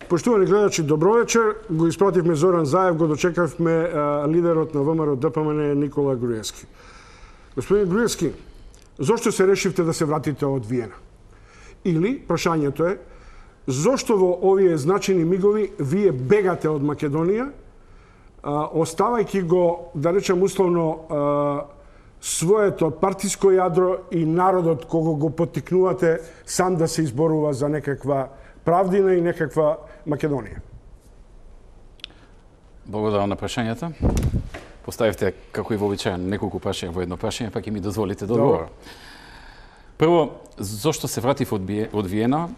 Поштовани гледачи, добро вечер. Го испративме Зоран Заев, го дочекавме лидерот на ВМРО ДПМН Никола Груевски. Господин Груевски, зошто се решивте да се вратите од Виена? Или, прашањето е, зошто во овие значени мигови вие бегате од Македонија, оставајќи го, да речем условно, своето партиско јадро и народот кого го поттикнувате сам да се изборува за некаква правдина и некаква Македонија? Благодарам на прашањата. Поставивте, како и вообичаено, неколку прашања во едно прашање, па ќе ми дозволите да одговорам. Прво, зошто се вратив од Виена?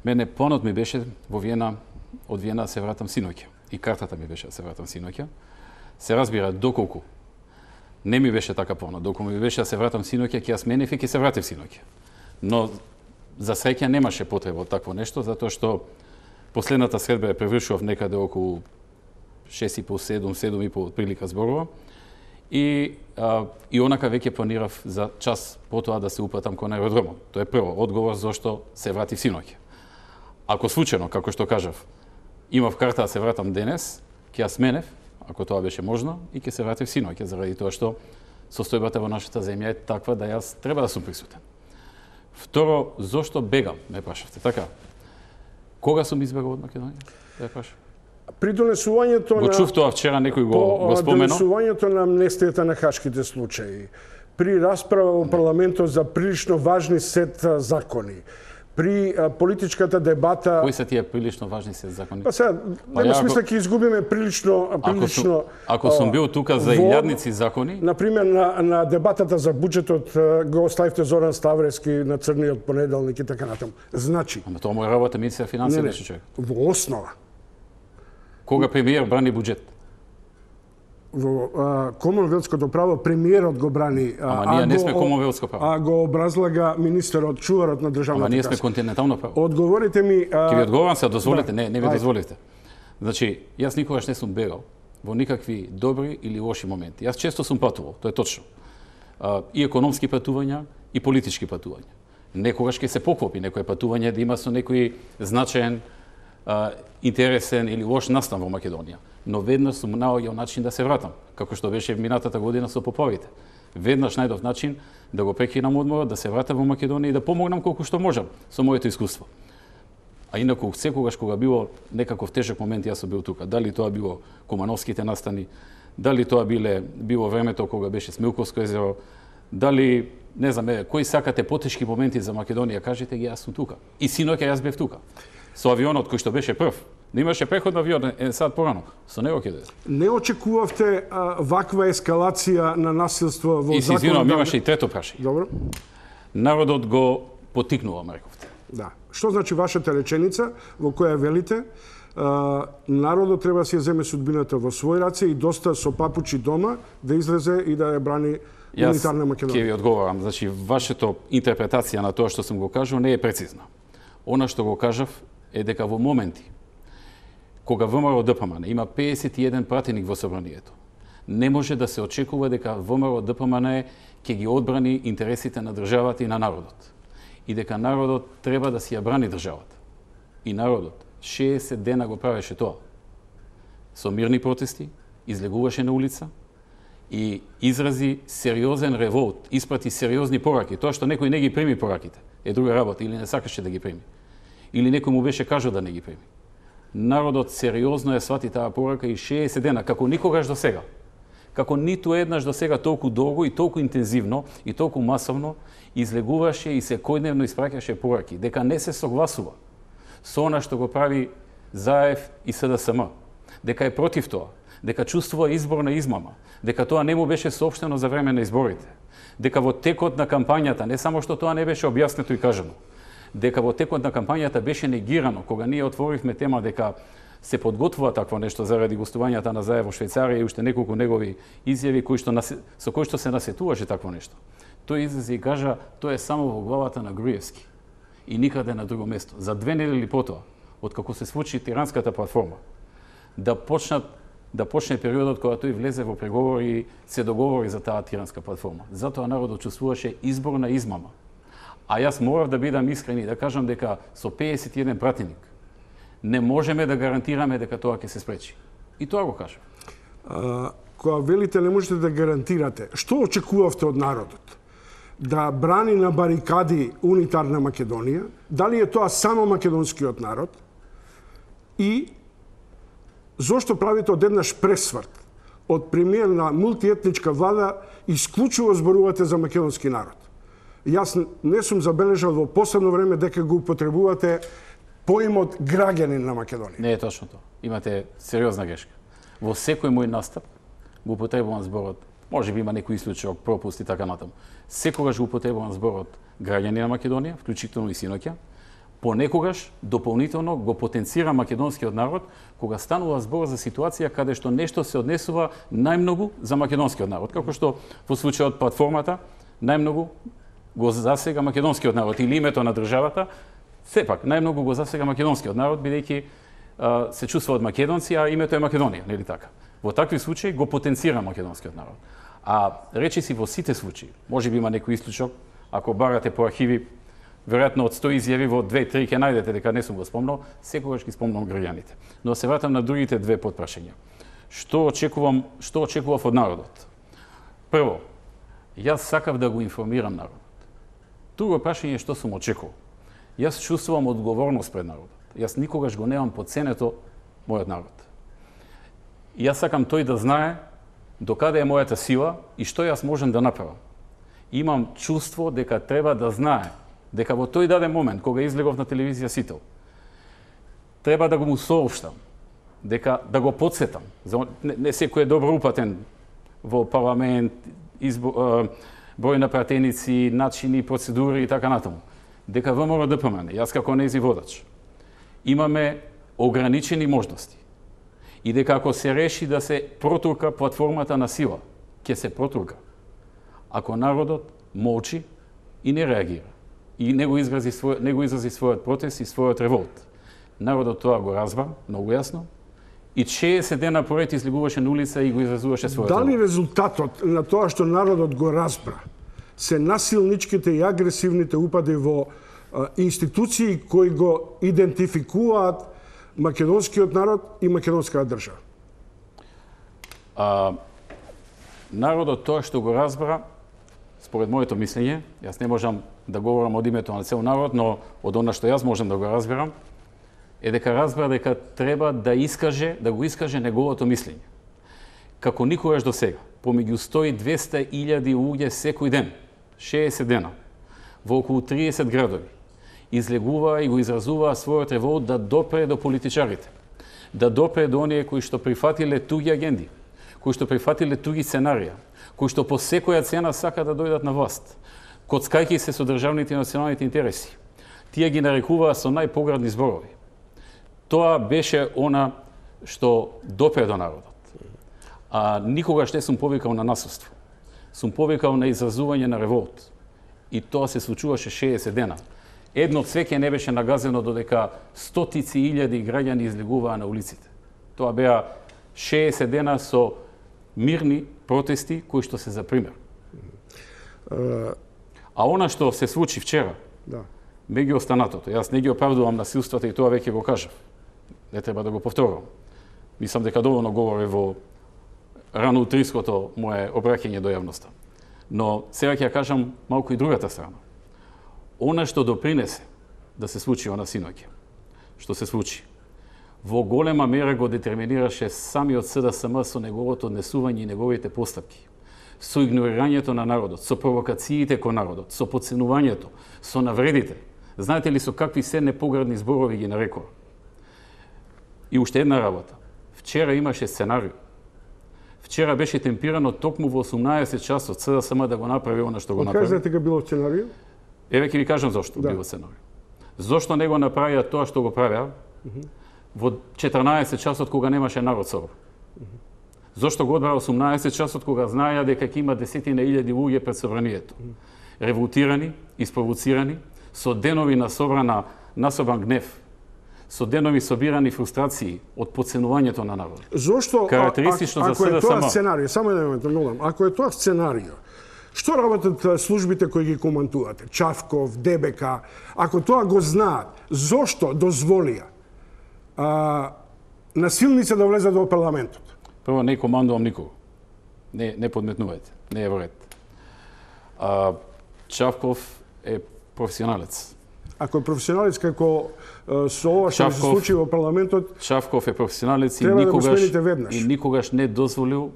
Мене планот ми беше во Виена, од Виена се вратам синоќа. И картата ми беше да се вратам синоќа. Се разбира, доколку не ми беше така планот, доколку ми беше да се вратам синоќа, ќе ја сменев и ќе се вратив синоќа. Но за среќа немаше потреба од такво нешто, затоа што последната средба ја превршував некаде околу 6,5, 7,5 прилика зборува. И онака веќе планирав за час потоа да се упатам кон аеродромот. Тоа е прво одговор зошто се вратив синоќа. Ако случајно, како што кажав, имав карта да се вратам денес, ќе ја сменев, ако тоа беше можно, и ќе се вратив синоќа, заради тоа што состојбата во нашата земја е таква да јас треба да сум присутен. Второ, зошто бегам, ме прашавте, така? Кога сум избегал од Македонија? Да ја прашам. При донесувањето го чув тоа вчера, некој го спомено. Донесувањето на амнестијата на хашките случаи, при расправа во парламентот за прилично важни сет закони, при политичката дебата... Кои се тие прилично важни сет закони? Па сега, нема смисла ќе изгубиме прилично... Ако сум бил тука за илјадници закони... Например, на дебатата за буџетот го оставивте Зоран Ставрески на црниот понеделник и така натаму. Значи... Ама тоа моја работа, министер финансија беше човек. Во основа. Кога премиер брани буџет? Во комонвелското право премиерот го брани, ама ние не сме комонвелско право. А го образлага министерот, чуварот на државната каса. Ама ние сме континентално право. Одговорите ми... Ќе ви одговорам се, дозволите? Не ви дозволите. Значи, јас никогаш не сум бегал во никакви добри или лоши моменти. Јас често сум патувал, тоа е точно. И економски патувања, и политички патувања. Некогаш ќе се поклопи некое патување да има со некој значаен, интересен или лош настан во Македонија. Но веднаш сум наоѓал начин да се вратам, како што беше минатата година со поплавите. Веднаш најдов начин да го прекинам одморот, да се вратам во Македонија и да помогнам колку што можам со моето искуство. А инаку секогаш кога било некаков тежок момент јас сум бил тука. Дали тоа било Кумановските настани, дали тоа било времето кога беше Смилковско езеро, дали не знам, кои сакате потешки моменти за Македонија, кажете ги, јас сум тука. И синоќа јас бев тука. Со авионот кој што беше прв. Не имаше преход на авион сад порано. Со него ќе дојде. Не очекувавте ваква ескалација на насилство во законот? И си извинувам, имаше и трето прашање. Добро. Народот го потикнува, ме рековте. Да. Што значи вашата реченица во која велите народот треба да си ја земе судбината во свој раце и доста со папучи дома да излезе и да ја брани унитарна Македонија? Јас ќе ви одговорам. Значи, вашето интерпретација на тоа што сум го кажал не е прецизна. Она што го кажав е дека во моменти кога ВМРО ДПМН има 51 пратеник во собранието, не може да се очекува дека ВМРО ДПМН ќе ги одбрани интересите на државата и на народот. И дека народот треба да си ја брани државата. И народот 60 дена го правеше тоа. Со мирни протести, излегуваше на улица и изрази сериозен револт, испрати сериозни пораки. Тоа што некој не ги прими пораките е друга работа, или не сакаше да ги прими. Или некој му беше кажал да не ги прими. Народот сериозно ја свати таа порака и 60 дена, како никогаш до сега. Како ниту еднаш до сега толку долго и толку интензивно и толку масовно излегуваше и секојдневно испраќаше пораки, дека не се согласува со она што го прави Заев и СДСМ, дека е против тоа, дека чувствува изборна измама, дека тоа не му беше соопштено за време на изборите, дека во текот на кампањата, не само што тоа не беше објаснето и кажано, дека во текот на кампањата беше негирано, кога ние отворивме тема дека се подготвува такво нешто заради гостувањата на Заев во Швајцарија и уште неколку негови изјави со кои што се насетуваше такво нешто. Тој излезе и кажа, тоа е само во главата на Груевски и никаде на друго место. За 2 недели потоа, откако се случи Тиранската платформа, да почне периодот кога тој влезе во преговори и се договори за таа Тиранска платформа. Затоа народот чувствуваше изборна измама. А јас морав да бидам искрен и да кажам дека со 51 пратеник Не можеме да гарантираме дека тоа ќе се спречи. И тоа го кажам. Кога велите не можете да гарантирате, што очекувавте од народот? Да брани на барикади унитарна Македонија? Дали е тоа само македонскиот народ? И зошто правите одеднаш пресврт од премиер на мултиетничка влада исклучиво зборувате за македонски народ? Јас не сум забележал во последно време дека го употребувате поимот граѓанин на Македонија. Не е точно тоа. Имате сериозна грешка. Во секој мој настап го употребувам зборот, може би има некој исклучок, пропуст и така натаму. Секогаш го употребувам зборот граѓани на Македонија, вклучително и синоќа. Понекогаш дополнително го потенцира македонскиот народ кога станува збор за ситуација каде што нешто се однесува најмногу за македонскиот народ, како што во случајот платформата најмногу го засега македонскиот народ или името на државата, сепак најмногу го засега македонскиот народ бидејќи се чувствуваат македонци, а името е Македонија, нели така? Во такви случаи го потенцира македонскиот народ. А речиси во сите случаи, можеби има некој исклучок, ако барате по архиви, веројатно од 100 изјави во 2-3 ќе најдете дека не сум го спомнал, секогаш ги спомнам граѓаните. Но се вратам на другите две потпрашања. Што очекував од народот? Прво, јас сакав да го информирам народот. Друго прашање е што сум очекувал. Јас чувствувам одговорност пред народот. Јас никогаш го немам подценето мојот народ. И јас сакам тој да знае докаде е мојата сила и што јас можам да направам. Имам чувство дека треба да знае дека во тој даден момент, кога излегов на телевизија Сител, треба да го му соопштам, дека да го подсетам. Не секој е добро упатен во парламент, број на пратеници, начини, процедури и така натаму. Дека ВМРО ДПМН, јас како нејзин водач, имаме ограничени можности. И дека ако се реши да се протурка платформата на сила, ќе се протурка. Ако народот молчи и не реагира, и не го изрази својот протест и својот револт. Народот тоа го разбра многу јасно и 60 дена поред излегуваше на улица и го изразуваше својот револт. Дали резултатот на тоа што народот го разбра се насилничките и агресивните упади во институции кои го идентификуваат македонскиот народ и македонската држава? Народот тоа што го разбра, според моето мислење, јас не можам да говорам од името на цел народ, но од она што јас можам да го разберам, е дека разбра дека треба да го искаже неговото мислење. Како никогаш до сега, помеѓу 100 и 200 илјади луѓе секој ден, 60 дена, во околу 30 градови, излегува и го изразува својот револт да допре до политичарите, да допре до оние кои што прифатиле туѓи агенди, кои што прифатиле туѓи сценарија, кои што по секоја цена сака да дојдат на власт, коцкајќи се со државните и националните интереси. Тие ги нарекуваа со најпоградни зборови. Тоа беше она што допре до народот. Никогаш не сум повикал на насилство. Сум повикал на изразување на револт. И тоа се случуваше 60 дена. Едно цвеќе не беше нагазено додека стотици илјади граѓани излегуваа на улиците. Тоа беа 60 дена со мирни протести кои што се за пример. А она што се случи вчера, меѓу останатото, јас не ги оправдувам насилствата и тоа веќе го кажав. Не треба да го повторувам. Мислам дека доволно говори во рано утринското мое обраќање до јавноста. Но сега ќе ја кажам малку и другата страна. Она што допринесе да се случи она синоќа, што се случи, во голема мера го детерминираше самиот СДСМ со неговото однесување и неговите постапки, со игнорирањето на народот, со провокациите кон народот, со подценувањето, со навредите. Знаете ли со какви се непоградни зборови ги нарекува? И уште една работа. Вчера имаше сценарио. Вчера беше темпирано токму во 18 часот СДСМ да го направи она што го направи. Кажете дека било сценарио? Еве ќе ви кажам зошто било сценарио. Зошто не го направија тоа што го правеа во 14 часот кога немаше народ собор? Зошто го одбраа 18 часот кога знаеа дека ќе има десетина илјади луѓе пред собранието? Револтирани, испровоцирани, со денови насобран гнев, со денови собирани фрустрации од подценувањето на народот. Зошто, карактеристично за СДСМ? Ако е тоа сценарио, само еден момент, молам, ако е тоа сценарио, што работат службите кои ги командувате? Чавков, ДБК, ако тоа го знаат, зошто дозволија насилници да влезат во парламентот? Прво, не командувам никого. Не подметнувајте. Не е во ред. Чавков е професионалец. Ако е професионалец како со ова што се случи во парламентот, Чавков е професионалец и никогаш не дозволил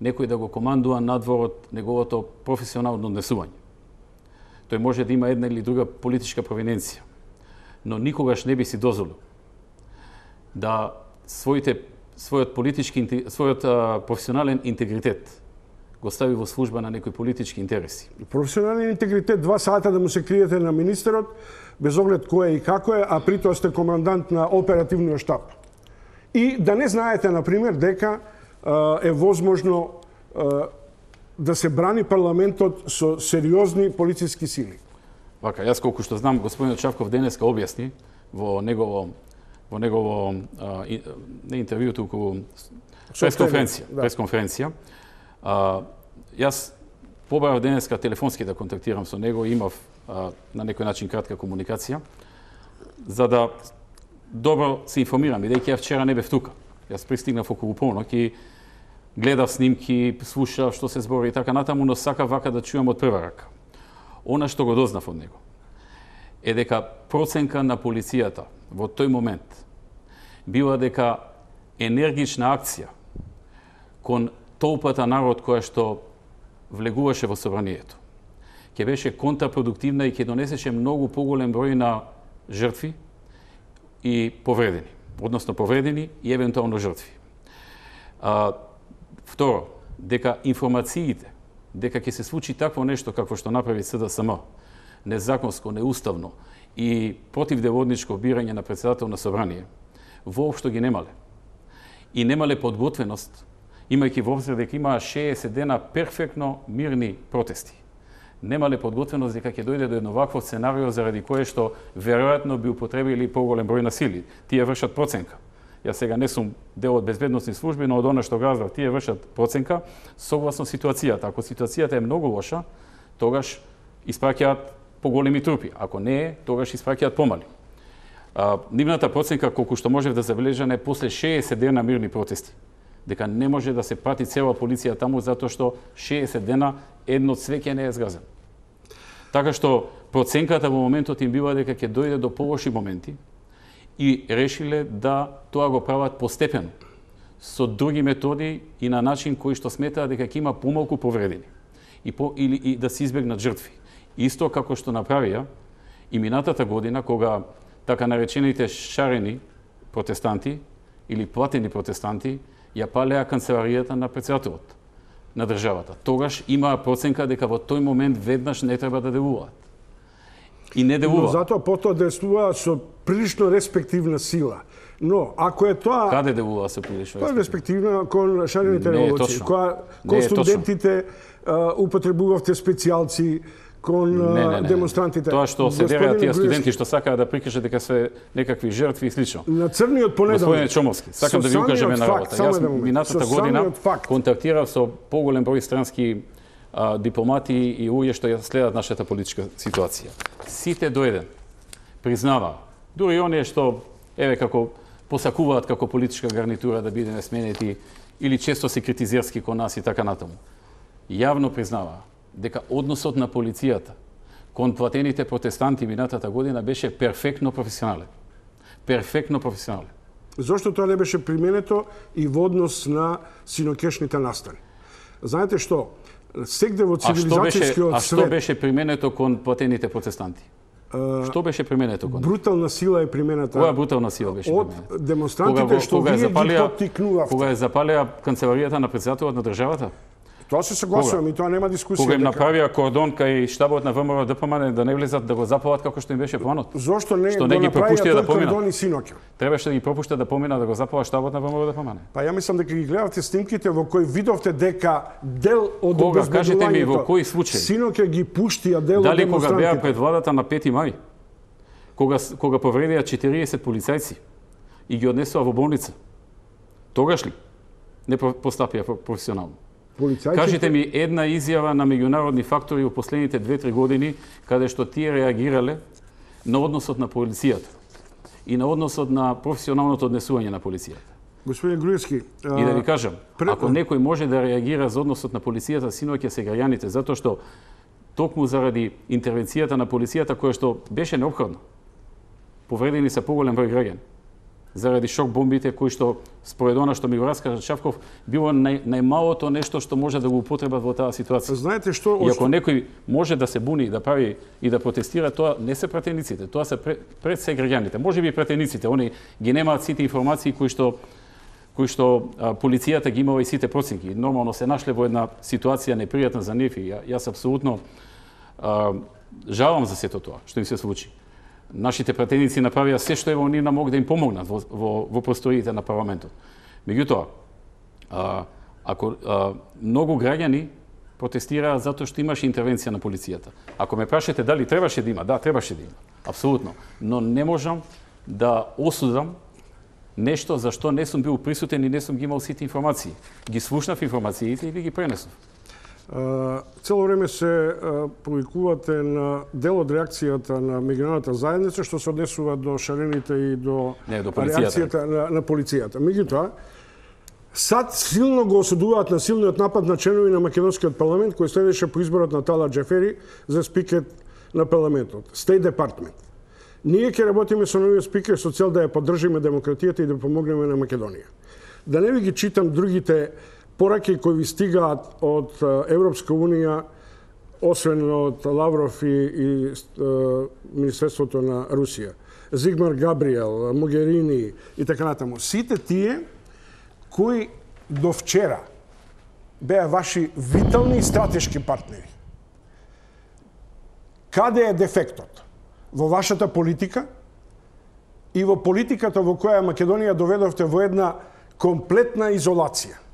некој да го командува надвор од неговото професионално однесување. Тој може да има една или друга политичка провиненција, но никогаш не би си дозволил да својот професионален интегритет го стави во служба на некои политички интереси. Професионален интегритет, 2 сата да му се криете на министерот, без оглед кој е и како е, а притоа сте командант на оперативниот штаб. И да не знаете, например, дека е возможно да се брани парламентот со сериозни полициски сили. Вака, јас колку што знам, господинот Чавков денеска објасни во негово не интервју, туку пресконференција. Јас побарав денеска телефонски да контактирам со него, имав на некој начин кратка комуникација, за да добро се информирам, бидејќи ја вчера не бев тука. Јас пристигнав околу полнок и гледав снимки, слушав што се збори и така натаму, но сакав вака да чујам од прва рака. Она што го дознав од него е дека проценка на полицијата во тој момент била дека енергична акција кон толпата народ која што влегуваше во собранието ќе беше контрапродуктивна и ќе донесеше многу поголем број на жртви и повредени, односно повредени и евентуално жртви. Второ, дека информациите дека ќе се случи такво нешто какво што направи СДСМ, незаконско, неуставно и противдеводничко бирање на председател на собрание, воопшто ги немале. И немале подготвеност, имајќи во обзир дека имаа 60 дена перфектно мирни протести. Немале подготвеност дека ќе дојде до едно вакво сценарио заради кое што веројатно би употребили поголем број на сили. Тие вршат проценка. Јас сега не сум дел од безбедносни служби, но од она што газав, тие вршат проценка согласно ситуацијата. Ако ситуацијата е многу лоша, тогаш испраќаат поголеми трупи. Ако не е, тогаш испраќаат помали. Нивната проценка, колку што можев да забележам, е после 60 дена мирни протести. Дека не може да се прати цела полиција таму, затоа што 60 дена едно цвеќе не е згазен. Така што проценката во моментот им бива дека ќе дојде до полоши моменти и решиле да тоа го прават постепено, со други методи и на начин кој што сметаат дека ќе има помалку повредени или да се избегнат жртви. Исто како што направија и минатата година, кога така наречените шарени протестанти или платени протестанти ја палеа канцеларијата на председателот на државата. Тогаш имаа проценка дека во тој момент веднаш не треба да делуваат. И не делуваат. Но затоа потоа действуваат со прилично респективна сила. Но ако е тоа... Каде делува со прилично респективна? Тоа е респективна кон шарените револуции. Кон студентите употребувавте специјалци, кон демонстрантите. Тоа што се дереат тие студенти што сакаат да прикажат дека се некакви жртви и слично. На црниот понеделник. Господине Чомовски, сакам да ви укажам една работа. Јас минатата година контактирав со поголем број странски дипломати и луѓе што ја следат нашата политичка ситуација. Сите до еден признаваа, дури оние што како посакуваат како политичка гарнитура да бидеме сменети или често се критизерски кон нас и така натаму. Јавно признаваа дека односот на полицијата кон платените протестанти минатата година беше перфектно професионален. Перфектно професионален. Зошто тоа не беше применето и во однос на синокешните настани? Знаете што? Сегде во цивилизацијскиот свет... А што беше применето кон платените протестанти? Што беше применето кон? Брутална сила е примената. Која брутална сила беше применета? Од демонстрантите што вие ги поттикнувавте. Кога ја запалија канцеларијата на председателот на државата? Тоа се согласувам и тоа нема дискусија. Кога им направија кордон кај штабот на ВМРО ДПМН да не влезат да го запалат како што им беше планот. Зошто не ги пропуштија да поминат? Кордон и синоќа. Требаше да ги пропуштат да поминат да го запалат штабот на ВМРО ДПМН. Па ја мислам дека ги гледавте снимките во кои видовте дека дел од обезбедувањето. Кажете ми во кој случај? Синоќа ги пуштија дел од демонстрантите. Дали кога беа пред владата на 5 мај? Кога повредија 40 полицајци и ги однесоа во болница? Тогаш ли не постапија професионално? Кажете ми една изјава на меѓународни фактори во последните 2-3 години каде што тие реагирале на односот на полицијата и на односот на професионалното однесување на полицијата. Господин Груевски, И да ви кажам, ако некој може да реагира за односот на полицијата, синоќа се граѓаните, затоа што токму заради интервенцијата на полицијата која што беше неопходна, повредени се поголем број граѓани. Заради шок бомбите кои што според она што ми го раскажа Шавков било најмалото нешто што може да го употребат во таа ситуација. Знаете што? И ако некој може да се буни, да прави и да протестира, тоа не се пратениците, тоа се пред се граѓаните. Може би пратениците, они ги немаат сите информации кои што полицијата ги имала и сите проценки. Нормално се нашле во една ситуација непријатна за нив и јас апсолутно жалам за сето тоа што им се случи. Нашите пратеници направија се што е во нивна мог да им помогнат во просториите на парламентот. Меѓутоа, ако многу граѓани протестираа затоа што имаше интервенција на полицијата. Ако ме прашате дали требаше да има, да, требаше да има. Апсолутно. Но не можам да осудам нешто за што не сум бил присутен и не сум ги имал сите информации. Ги слушнав информациите и ви ги пренесов. Цело време се повикувате на дел од реакцијата на меѓународната заедница што се однесува до шарените и до реакцијата на полицијата. Меѓутоа, САД силно го осудуваат насилниот напад на членови на македонскиот парламент кој следеше по изборот на Талат Џафери за спикер на парламентот, State Department. Ние ќе работиме со новиот спикер со цел да ја поддржиме демократијата и да помогнеме на Македонија. Да не ви ги читам другите пораки кои ви стигаат од Европска Унија, освен од Лавров и Министерството на Русија. Зигмар Габриел, Могерини и така натаму. Сите тие кои до вчера беа ваши витални и стратешки партнери. Каде е дефектот? Во вашата политика и во политиката во која Македонија доведовте во една комплетна изолација.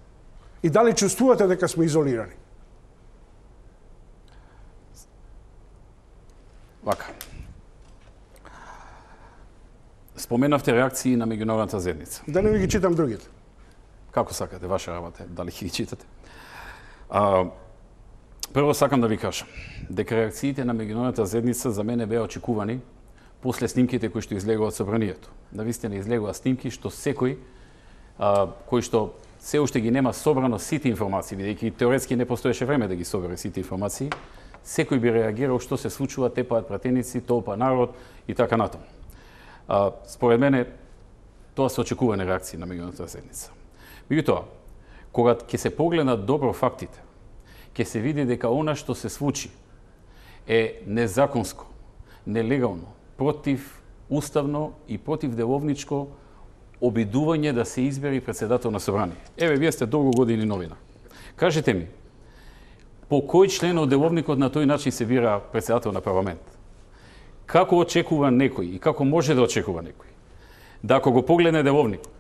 И дали чувствувате дека сме изолирани? Вака. Споменавте реакции на меѓународната заедница. Да не ви ги читам другите. Како сакате, ваша работа, дали ги читате. Прво сакам да ви кажам дека реакциите на меѓународната заедница за мене беа очекувани после снимките кои што излегува од собранието. Навистина излегува снимки што секој кој што се уште ги нема собрано сите информации, бидејќи теоретски не постоеше време да ги собере сите информации, секој би реагирал што се случува, тепаат пратеници, толпа народ и така натаму. Според мене тоа се очекувани реакции на меѓународната заедница. Меѓутоа, кога ќе се погледнат добро фактите, ќе се види дека она што се случи е незаконско, нелегално, противуставно и противделовничко обидување да се избери председател на собрание. Еве, вие сте долго години новина. Кажете ми, по кој член од деловникот на тој начин се бира председател на парламент? Како очекува некој и како може да очекува некој? Да ако го погледне деловникот,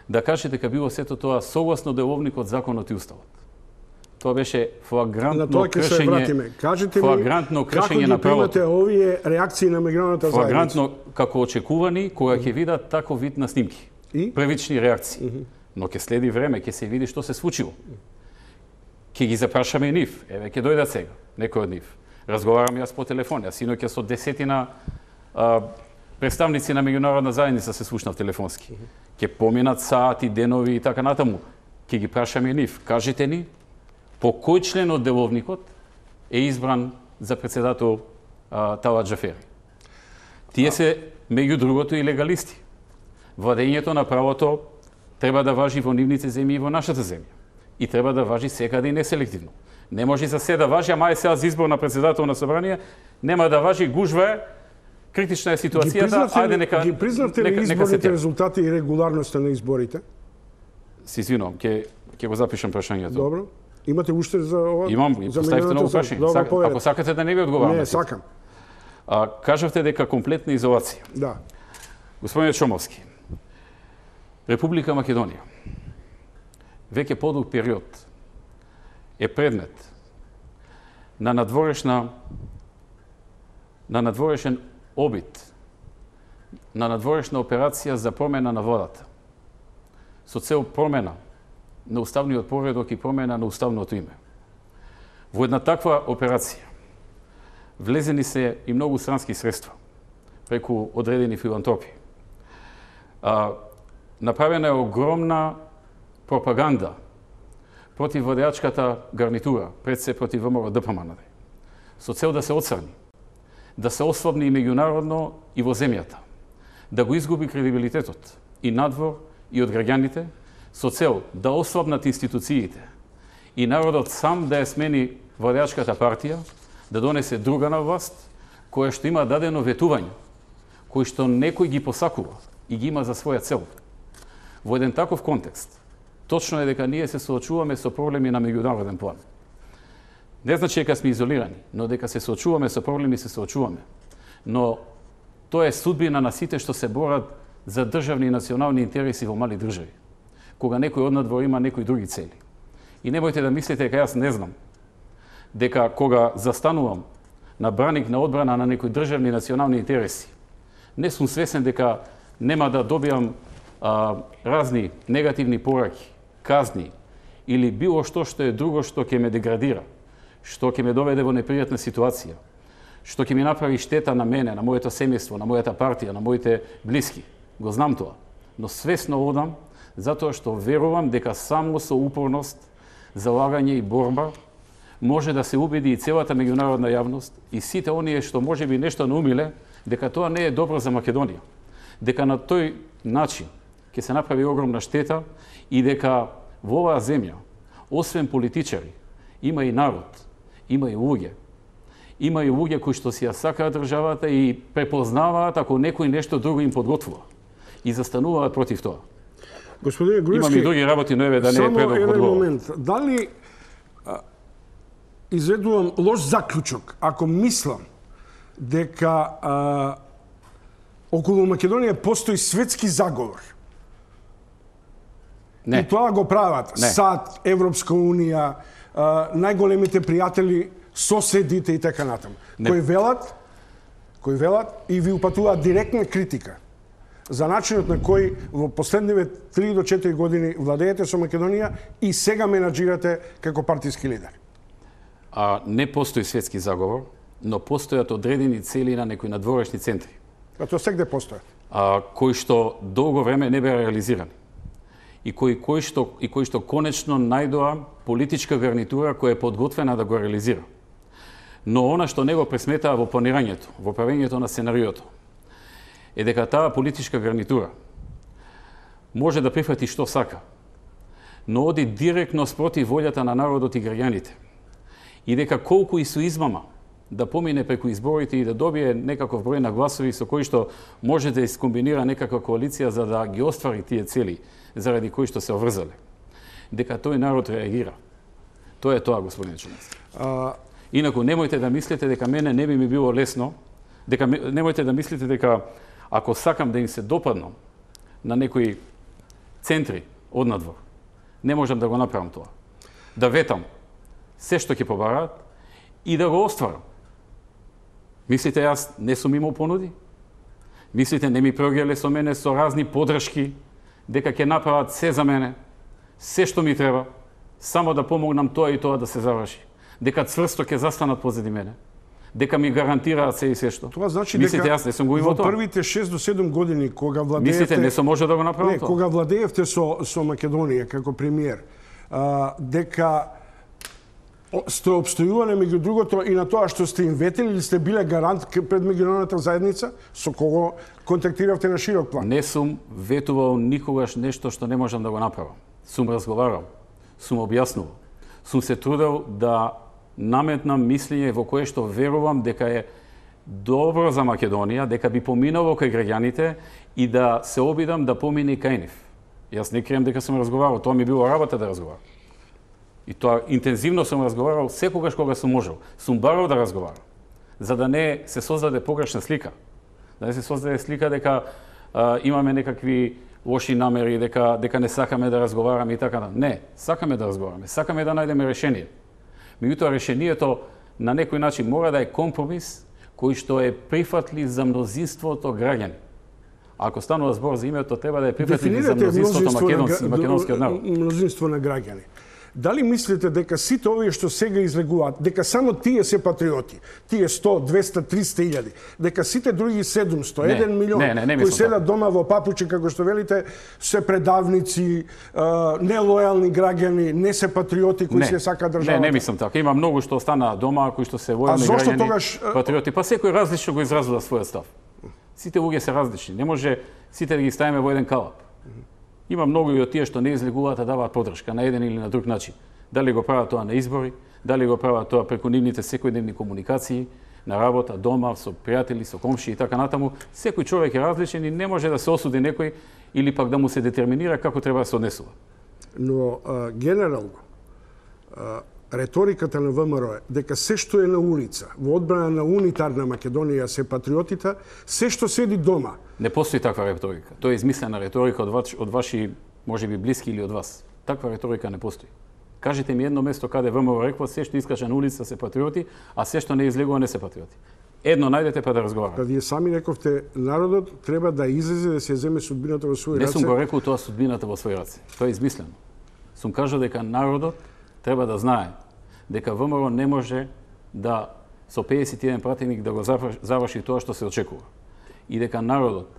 да каже дека било сето тоа согласно деловникот, законот и уставот. Тоа беше флагрантно кршење. Флагрантно кршење на правото. Како ги примате овие реакции на меѓународната заедница? Флагрантно како очекувани кога ќе видат таков вид на снимки. Првични реакции. Но ќе следи време, ќе се види што се случило. Ќе ги запрашаме и нив. Еве ќе дојдат сега некој од нив. Разговарам јас по телефон. Јас синоќа со десетина представници на меѓународна заедница се слушнав телефонски. Ќе поминат сати, денови и така натаму. Ќе ги прашаме и нив. Кажете ни по кој член од деловникот е избран за председател Талат Џафери. Тие се, меѓу другото, и легалисти. Владењето на правото треба да важи во нивните земји и во нашата земја. И треба да важи секаде и неселективно. Не може за се да важи, ама е сега за избор на председател на собрание, нема да важи, гужва е, критична е ситуацијата, ајде нека... Ги признавте ли изборните резултати и регуларноста на изборите? Се извинувам, ќе го запишам прашањето. Добро. Имате уште за ова? Имам, поставите ново прашање. Ако сакате да не ви одговарам. Не, сакам. Кажавте дека комплетна изолација. Да. Господине Чомовски, Република Македонија веќе подолг период е предмет на надворешен обид, на надворешна операција за промена на владата, со цел промена на уставниот поредок и промена на уставното име. Во една таква операција влезени се и многу странски средства преку одредени филантропи. Направена е огромна пропаганда против владеачката гарнитура, пред се против ВМРО ДПМН, со цел да се отсрани, да се ослабни и меѓународно и во земјата, да го изгуби кредибилитетот и надвор и од граѓаните, со цел да ослабнат институциите и народот сам да ја смени владеачката партија, да донесе друга на власт, која што има дадено ветување, кој што некој ги посакува и ги има за своја цел. Во еден таков контекст, точно е дека ние се соочуваме со проблеми на меѓународен план. Не значи дека сме изолирани, но дека се соочуваме со проблеми, се соочуваме. Но тоа е судбина на сите што се борат за државни и национални интереси во мали држави, кога некој од надвор има некои други цели. И немојте да мислите дека јас не знам дека кога застанувам на браник на одбрана на некои државни и национални интереси, не сум свесен дека нема да добиам разни негативни пораки, казни или било што е друго што ќе ме деградира, што ќе ме доведе во непријатна ситуација, што ќе ми направи штета на мене, на моето семејство, на мојата партија, на моите блиски. Го знам тоа, но свесно одам затоа што верувам дека само со упорност, залагање и борба може да се убеди и целата меѓународна јавност и сите оние што можеби нешто наумиле дека тоа не е добро за Македонија, дека на тој начин ќе се направи огромна штета и дека во оваа земја, освен политичари, има и народ, има и луѓе. Има и луѓе кои што си ја сакаат државата и препознаваат ако некој нешто друго им подготвува и застануваат против тоа. Господине Груевски, имам и други работи, но еве да не е предок одговор. Само еден момент. Дали изведувам лош заклучок ако мислам дека околу Македонија постои светски заговор? Не. И тоа го прават САД, Европска унија, најголемите пријатели, соседите и така натаму. Кои велат и ви упатуваат директна критика за начинот на кој во последниве 3 до 4 години владеете со Македонија и сега менаџирате како партиски лидер. Не постои светски заговор, но постојат одредени цели на некои надворешни центри. Тоа сегде постојат. Кои што долго време не беа реализирани. И кои што конечно најдоа политичка гарнитура која е подготвена да го реализира. Но она што не го пресметаа во планирањето, во правењето на сценариото, е дека таа политичка гарнитура може да прифати што сака, но оди директно спротив волјата на народот и граѓаните. И дека колку и со измама да помине преку изборите и да добие некаков број на гласови со кои што може да искомбинира некаква коалиција за да ги оствари тие цели заради кои што се оврзале. Дека тој народ реагира. Тоа е тоа, господин Чумацки. Инаку немојте да мислите дека мене не би ми било лесно, немојте да мислите дека ако сакам да им се допаднам на некои центри од надвор, не можам да го направам тоа. Да ветам се што ќе побараат и да го остварам. Мислите јас не сум имал понуди? Мислите не ми прогеле со мене со разни подршки дека ќе направат се за мене, се што ми треба, само да помогнам тоа и тоа да се заврши. Дека цврсто ќе застанат позади мене, дека ми гарантираат се и се што. Тоа значи мислите дека јас не сум го имал тоа? Во првите 6 до 7 години кога владеевте... Мислите не сум може да го направам тоа? Кога владеевте со Македонија како премиер, дека сте обстојувале меѓу другото и на тоа што сте им ветели или сте биле гарант пред меѓународната заедница, со кого контактиравте на широк план? Не сум ветувал никогаш нешто што не можам да го направам. Сум разговарал, сум објаснувал, сум се трудел да наметнам мислење во кое што верувам дека е добро за Македонија, дека би поминало кај граѓаните и да се обидам да помине кај нив. Јас не крием дека сум разговарал, тоа ми било работа да разговарам. И тоа интензивно сум разговарал секогаш кога сум можел. Сум барал да разговарам, за да не се создаде погрешна слика. Да не се создаде слика дека имаме некакви лоши намери, дека не сакаме да разговараме и така. Не, сакаме да разговараме, сакаме да најдеме решение. Меѓутоа решението на некој начин мора да е компромис кој што е прифатлив за мнозинството граѓани. Ако станува збор за името, треба да е прифатлив за мнозинството македонскиот народ. Мнозинство на граѓани. Дали мислите дека сите овие што сега излегуваат, дека само тие се патриоти, тие 100, 200, 300 илјади, дека сите други 700, 1 милион, кои седат дома во папучи, како што велите, се предавници, нелојални граѓани, не се патриоти кои се сака државата? Не мислам така. Има многу што останаа дома, кои што се војални граѓани, патриоти, па секој различно го изразува својот став. Сите луѓе се различни, не може сите да ги ставиме во еден калап. Има многу и од тие што не излегуваат да даваат поддршка на еден или на друг начин. Дали го прават тоа на избори, дали го прават тоа преку нивните секојдневни комуникации, на работа, дома, со пријатели, со комши и така натаму. Секој човек е различен и не може да се осуди некој или пак да му се детерминира како треба да се однесува. Но генерално, реториката на ВМРО е дека се што е на улица, во одбрана на унитарна Македонија се патриотите, се што седи дома. Не постои таква реторика. Тоа е измислена реторика од ваши, можеби блиски или од вас. Таква реторика не постои. Кажете ми едно место каде ВМРО рекла се што искача на улица се патриоти, а се што не излегува не се патриоти. Едно најдете па да разговараме. Па вие сами рековте народот треба да излезе да се земе судбината во своји раце. Не сум го рекол тоа судбината во своји раце. Тоа е измислено. Сум кажал дека народот треба да знае дека ВМРО не може да со 51 пратеник да го заврши тоа што се очекува. И дека народот,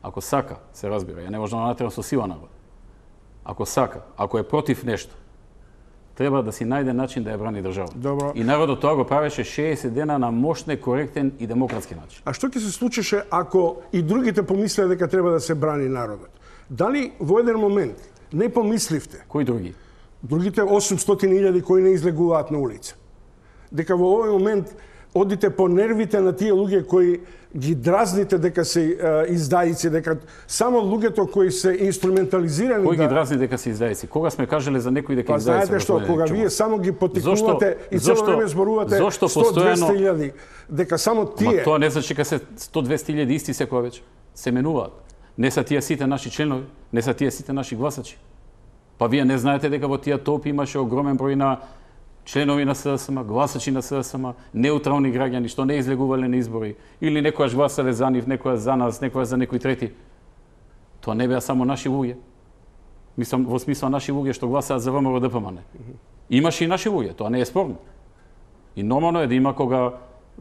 ако сака, се разбира, ја не може да натерам со сила народ. Ако сака, ако е против нешто, треба да си најде начин да ја брани држава. Добро. И народот тоа го правеше 60 дена на мощен, коректен и демократски начин. А што ќе се случеше ако и другите помислеа дека треба да се брани народот? Дали во еден момент не помисливте? Кои други? Другите 800.000 кои не излегуваат на улица. Дека во овој момент одите по нервите на тие луѓе кои ги дразните дека се издајици, дека само луѓето кои се инструментализирани... Кој ги дразни дека се издајици? Кога сме кажале за некој дека издајици? Па знаете што, кога вие само ги потикувате и цело време зборувате 100-200.000, дека само тие... Ма тоа не значи дека се 100-200.000 исти секоја вечер. Се менуваат. Не се тие сите наши членови, не се тие сите наши гласачи. Па вие не знаете дека во тие толпи имаше огромен број на членови на СДСМ, гласачи на СДСМ, неутрални граѓани што не излегувале на избори или некојаш гласале за нив, некојаш за нас, некојаш за некои трети. Тоа не беа само наши луѓе. Мислам во смисла наши луѓе што гласаат за ВМРО ДПМН. Имаше и наши луѓе, тоа не е спорно. И нормално е да има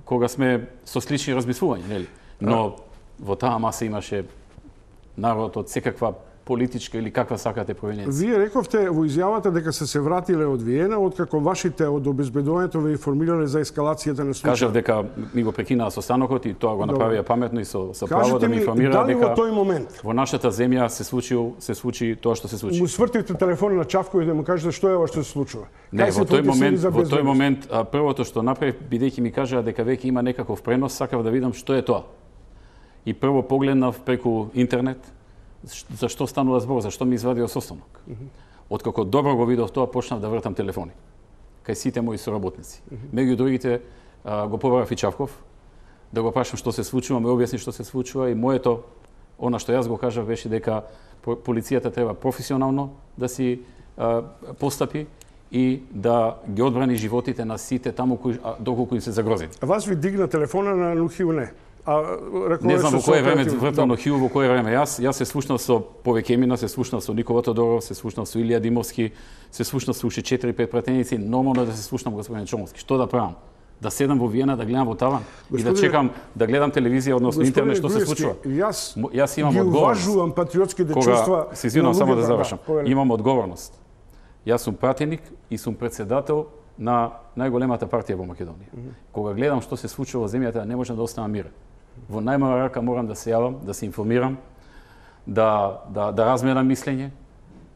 кога сме со слични размислувања, нели? Но во таа маса имаше народ од секаква политичка или каква сакате провиненција. Вие рековте во изјавата дека се вратиле од Виена, откако вашите од обезбедувањето ве информирале за ескалацијата на случајот. Кажав дека ми го прекинаа состанокот и тоа го направија паметно и со право да ми информира дека во тој момент во нашата земја се случи тоа што се случи. Му свртивте телефон на Чавко и да му кажете што е ова што се случува. Не, во тој момент првото што направив, бидејќи ми кажаа дека веќе има некаков пренос, сакав да видам што е тоа. И прво погледнав преку интернет за што станува збор, за што ми извадио состанок. Откако добро го видов тоа, почнав да вртам телефони кај сите мои соработници. Меѓу другите го побарав и Чавков да го прашам што се случува, ме објасни што се случува и моето, она што јас го кажав беше дека полицијата треба професионално да си постапи и да ги одбрани животите на сите таму доколку им се загрози. А вас ви дигна телефона на Нухил не? Не знам во кое време вртам Нухил, во кое време јас се слушнав со Повекемина, се слушнав со Никола Тодоров, се слушнав со Илија Димовски, се слушнав со уште 4-5 пратеници, нормално да се слушнам господин Чомовски. Што да правам? Да седам во Виена, да гледам во таван и да чекам да гледам телевизија, односно интернет што се случува. Јас имам одговорност. Уважувам патриотските чувства. Се извинувам само да завршам. Имам одговорност. Јас сум пратеник и сум председател на најголемата партија во Македонија. Кога гледам што се случува во земјата, не можам да останам мирен. Во најмала рака морам да се јавам, да се информирам, да разменам мислење,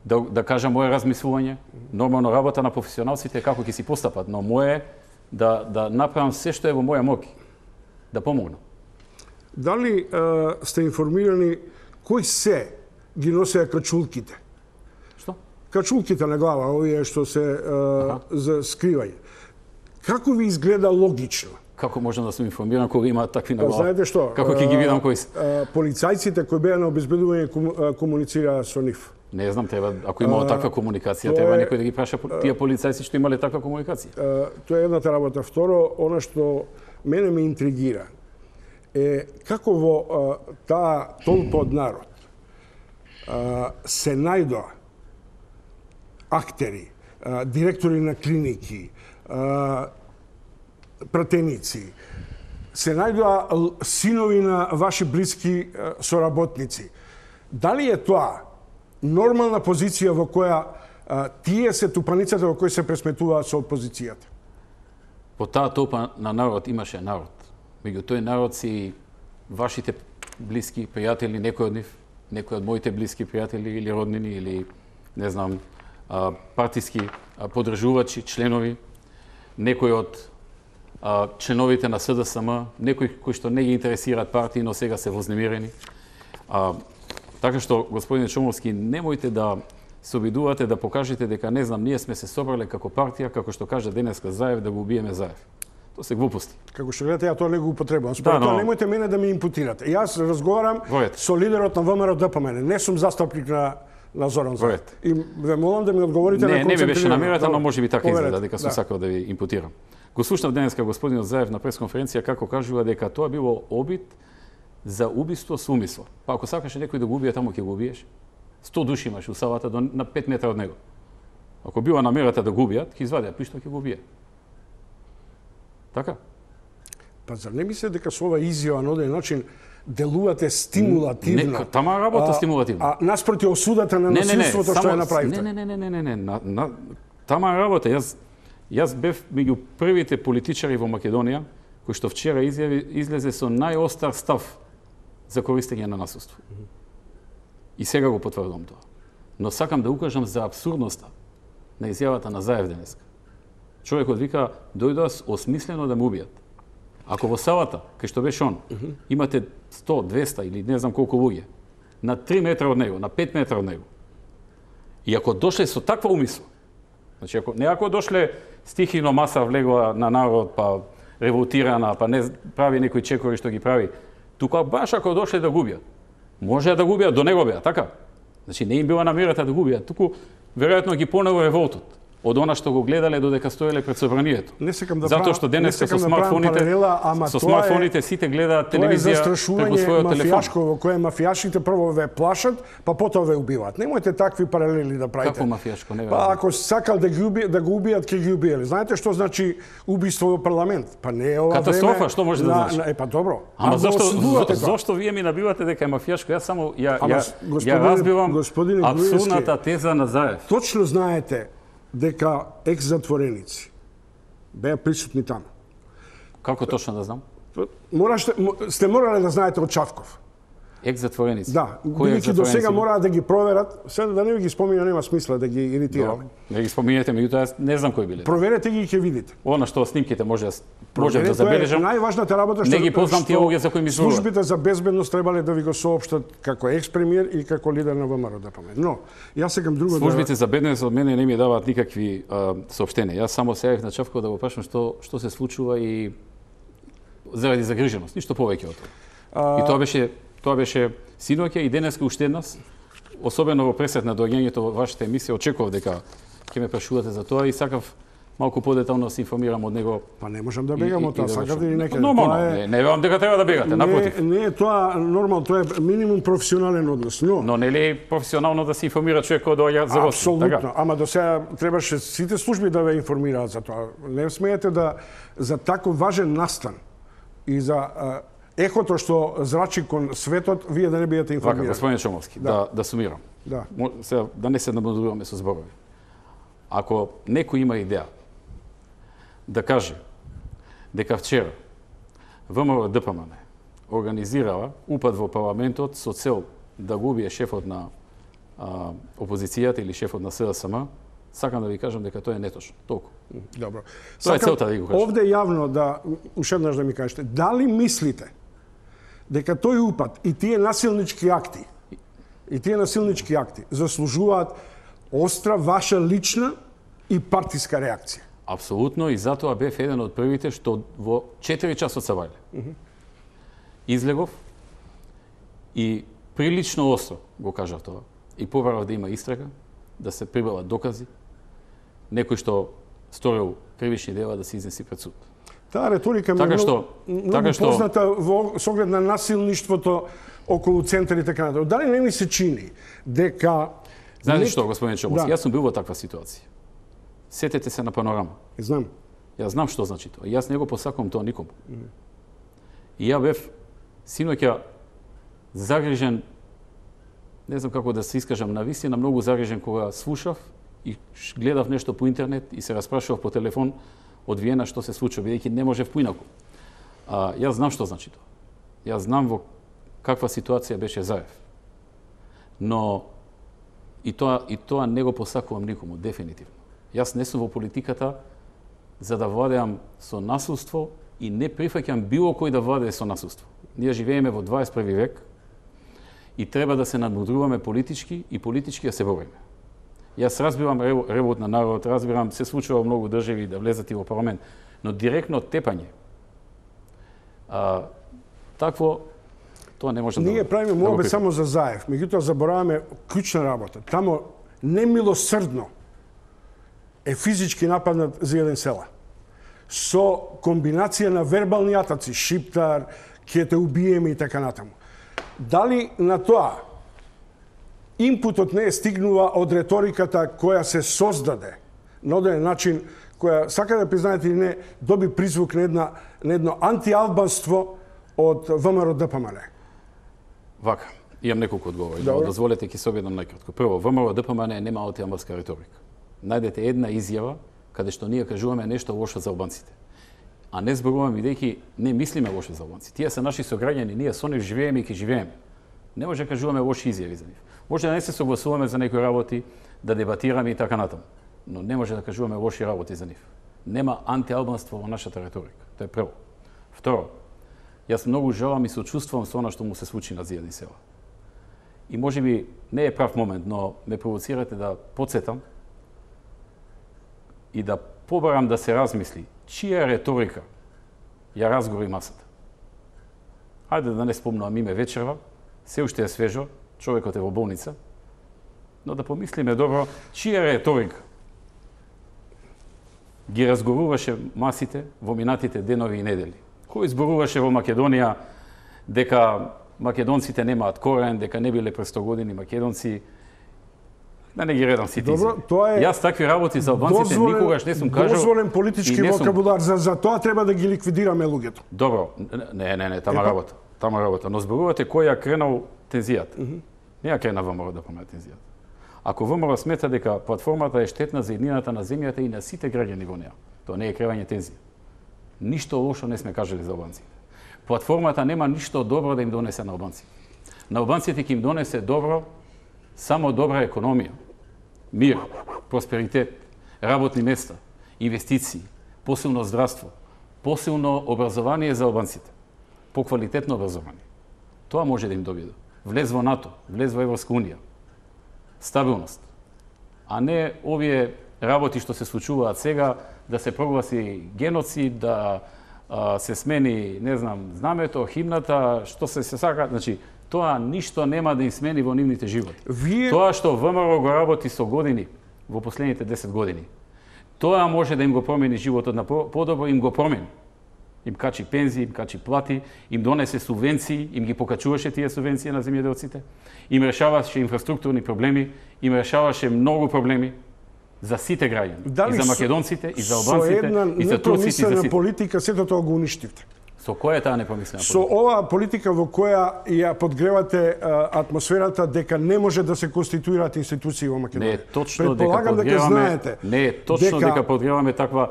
да кажам мое размислување. Нормално работа на професионалците како ќе си постапат, но мое да направам се што е во моја моќ, да помогнам. Дали сте информирани кои се ги носеа качулките? Што? Качулките на глава, овие што се за скривање. Како ви изгледа логично? Како можам да сум информиран кога има такви на глава? Знаете што? Како ќе ги видам кои се? Полицајците кои беа на обезбедување комуницираа со нив. Не знам, треба, ако имало таква комуникација, треба некој да ги праша тие полицајци што имале таква комуникација. Тоа е едната работа. Второ, она што мене ме интригира е како во таа толпа од народ се најдоа актери, директори на клиники, пратеници, се најдоа синови на ваши блиски соработници. Дали е тоа нормална позиција во која тие се тупаницата во кој се пресметуваат со опозицијата? По таа толпа на народ имаше народ. Меѓу тој народ си вашите блиски пријатели, некој од нив, некој од моите блиски пријатели или роднини или не знам, партиски поддржувачи, членови, некој од членовите на СДСМ, некои кои што не ги интересираат партии, но сега се вознемирени. Така што, господине Чомовски, немојте да се обидувате да покажете дека, не знам, ние сме се собрале како партија, како што кажа денеска Заев, да го убиеме Заев. Тоа се глупости. Како што гледате, ја тоа не го употребувам. Според тоа немојте мене да ми импутирате. Јас разговарам со лидерот на ВМРО ДПМН. Не сум застапник на Зоран Заев. И ве молам да ми одговорите на концентрирано. Не ми беше намерата, но може би така изгледа, дека сум сакал да ви импутирам. Го слушнав денеска господинот Заев на пресконференција како кажува дека тоа било обид за убиство со умисло. Па ако сакаше некој да го убие, таму ќе го убиеш. 100 души имаш у салата на 5 метра од него. Ако била намерата да го убијат, ќе извадија пиштол, ќе го убие. Така? Па зар не мислите дека со ова изјава на оден начин делувате стимулативно? Тама работа стимулативно. Наспроти осудата на насилството што ја направите? Не. Тама работа. Јас бев меѓу првите политичари во Македонија кој што вчера излезе со најостар став за користење на насилство. И сега го потврдувам тоа. Но сакам да укажам за абсурдноста на изјавата на Заев денеска. Човекот вика, дојдоа осмислено да ме убијат. Ако во салата, кај што беше он, имате 100, 200 или не знам колку луѓе, на 3 метра од него, на 5 метра од него, и ако дошле со таква умисла, значи ако дошле стихино маса влегла на народ, па револтирана, па не прави некои чекори што ги прави, тука баш ако дошле да губиат, може да губиат, до него беа, така? Значи не им била намерата да губиат, туку веројатно ги понело револтот од она што го гледале додека стоеле пред собранието. Не секам да затоа што денес со смартфоните сите гледаат телевизија преку својот телефон. Мафијашко во кое мафијашите прво ве плашат, па потоа ве убиваат. Немојте такви паралели да правите. Како мафијашко, не Па ако сакал да го убијат, ќе ги убиеле. Знаете што значи убиство во парламент? Па не е ова катастрофа, што може да значи? Па добро. Ама зошто вие ми набивате дека е мафијашко? Јас само ја разбивам апсурдната теза на Заев. Точно знаете дека екс-затвореници беа присутни таму. Како точно да знам? Сте морале да знаете од Чавков. Екс-затвореници? Да, бидејќи до сега мораат да ги проверат, сега да не ги спомина, нема смисла да ги иритираме. Не ги споминете, меѓутоа јас не знам кои биле. Проверете ги и ќе видите. Она што снимките може да забележам. Најважната работа што не ги познам тие луѓе за кои ми зборуват. Службите за безбедност требале да ви го соопштат како екс-премиер и како лидер на ВМРО ДПМН. Но јас сакам друго. Службите за безбедност од мене не ми даваат никакви соопштенија. Јас само се јавив на Чавков да го прашам што се случува и заради загриженост, ништо повеќе од тоа. И тоа беше синоќа и денеска уште еднаш, особено во пресет на доаѓањето во вашата емисија, очекував дека ќе ме прашувате за тоа и сакав малку подетално да се информирам од него. Па не можам да бегам од тоа, сакате или некаде. Нормално, не велам дека треба да бегате, напротив. Не е тоа нормално, тоа е минимум професионален однос, но не ли професионално да се информира човек кој доаѓа за гости? Апсолутно, ама до сега требаше сите служби да ве информираат за тоа. Не смеете да за таков важен настан и за ехото што зрачи кон светот, вие да не бидете информирани. Вака, господин Чомовски, да сумирам. Да. Сега, да не се набудуваме со зборови. Ако некој има идеја да каже дека вчера ВМРО ДПМН организирала упад во парламентот со цел да го убие шефот на опозицијата или шефот на СДСМ, сакам да ви кажам дека тоа е неточно. Толку. Добро. Тоа е целта да ви го кажам. Овде јавно уште еднаш да ми кажете, дали мислите дека тој упад и тие насилнички акти заслужуваат остра ваша лична и партиска реакција? Апсолутно, и затоа бев еден од првите што во 4 часот се вајле. Излегов и прилично остро го кажав тоа. И побарав да има истрага, да се прибават докази, некој што сторил кривични дела да се изнеси пред суд. Таа реторика ми е многу позната со оглед на насилништвото околу центар и така натаму. Дали не ми се чини дека... Знаете што, господин Чомовски, јас сум бил во таква ситуација. Сетете се на Панорама. Знам. Јас знам што значи тоа. Јас не го посакувам тоа никому. И ја бев синоќа загрижен, не знам како да се искажам, навистина многу загрижен кога слушав и гледав нешто по интернет и се распрашував по телефон од Виена што се случува, бидејќи не можев поинаку. Јас знам што значи тоа. Јас знам во каква ситуација беше Заев. Но и тоа не го посакувам никому, дефинитивно. Јас не сум во политиката за да владеам со насилство и не прифаќам било кој да владее со насилство. Ние живееме во 21 век и треба да се надмудруваме политички и политички да се бориме. Јас разбирам ревот на народ, разбирам се случува во многу држави да влезат и во парламент, но директно тепање такво тоа не може Ние правиме молбе само за Заев, меѓутоа забораваме клучна работа. Тамо немилосрдно е физички нападнат за еден села. Со комбинација на вербални атаци, шиптар, ќе те убиеме и така натаму. Дали на тоа импутот не е стигнува од реториката која се создаде на одреден начин, која, сака да признаете или не, доби призвук на едно антиалбанство од ВМРО ДПМН? Вака, имам неколку одговори, но дозволете ќе се обидам најкратко. Прво, ВМРО ДПМН нема антиалбанска реторика. Најдете една изјава каде што ние кажуваме нешто лошо за албанците. А не зборуваме бидејќи не мислиме лошо за албанци. Тие се наши сограѓани, ние со нив живееме и ќе живееме. Не може да кажуваме лоши изјави за нив. Може да не се согласуваме за некои работи, да дебатираме и така натаму, но не може да кажуваме лоши работи за нив. Нема антиалбанство во нашата реторика. Тоа е прво. Второ, јас многу жалам и сочувствувам со она што му се случи на Зијадни села. И може би не е прав момент, но ме провоцирате да потсетам и да побарам да се размисли чија реторика ја разгори масата. Ајде да не спомнувам име вечерва, се уште е свежо, човекот е во болница, но да помислиме добро чија реторика ги разгоруваше масите во минатите денови и недели. Кој зборуваше во Македонија дека македонците немаат корен, дека не биле пред 100 години македонци, да не ги редам сите. Добро, тоа е. Јас такви работи за албанците никогаш не сум кажал. Дозволен политички вокабулар, за тоа треба да ги ликвидираме луѓето. Добро, не, тама работа. Но зборувате кој ја кренал тензијата. Не ја крена ВМРО да помага тензијата. Ако ВМРО смета дека платформата е штетна за еднината на земјата и на сите граѓани во неа, тоа не е кревање тензија. Ништо лошо не сме кажали за албанците. Платформата нема ништо добро да им донесе на албанците. На албанците ќе им донесе добро само добра економија, мир, просперитет, работни места, инвестиции, посилно здравство, посилно образование за албанците, поквалитетно образование. Тоа може да им добиде. Влез во НАТО, влез во Европска унија, стабилност, а не овие работи што се случуваат сега, да се прогласи геноцид, да се смени, не знам, знамето, химната, што се сака, значи, тоа ништо нема да им смени во нивните животи. Тоа што ВМРО го работи со години, во последните 10 години, тоа може да им го промени животот на подобро, им го промени. Им качи пензии, им качи плати, им донесе субвенции, им ги покачуваше тие субвенции на земјоделците, им решаваше инфраструктурни проблеми, им решаваше многу проблеми за сите граѓани, и за македонците, и за албанците, и за турците, и за сите. Политика сето тоа го уништивте. Со која е таа непромислена политика? Со оваа политика во која ја подгревате атмосферата дека не може да се конституираат институции во Македонија. Не е точно дека подгреваме, не е точно дека подгреваме таква.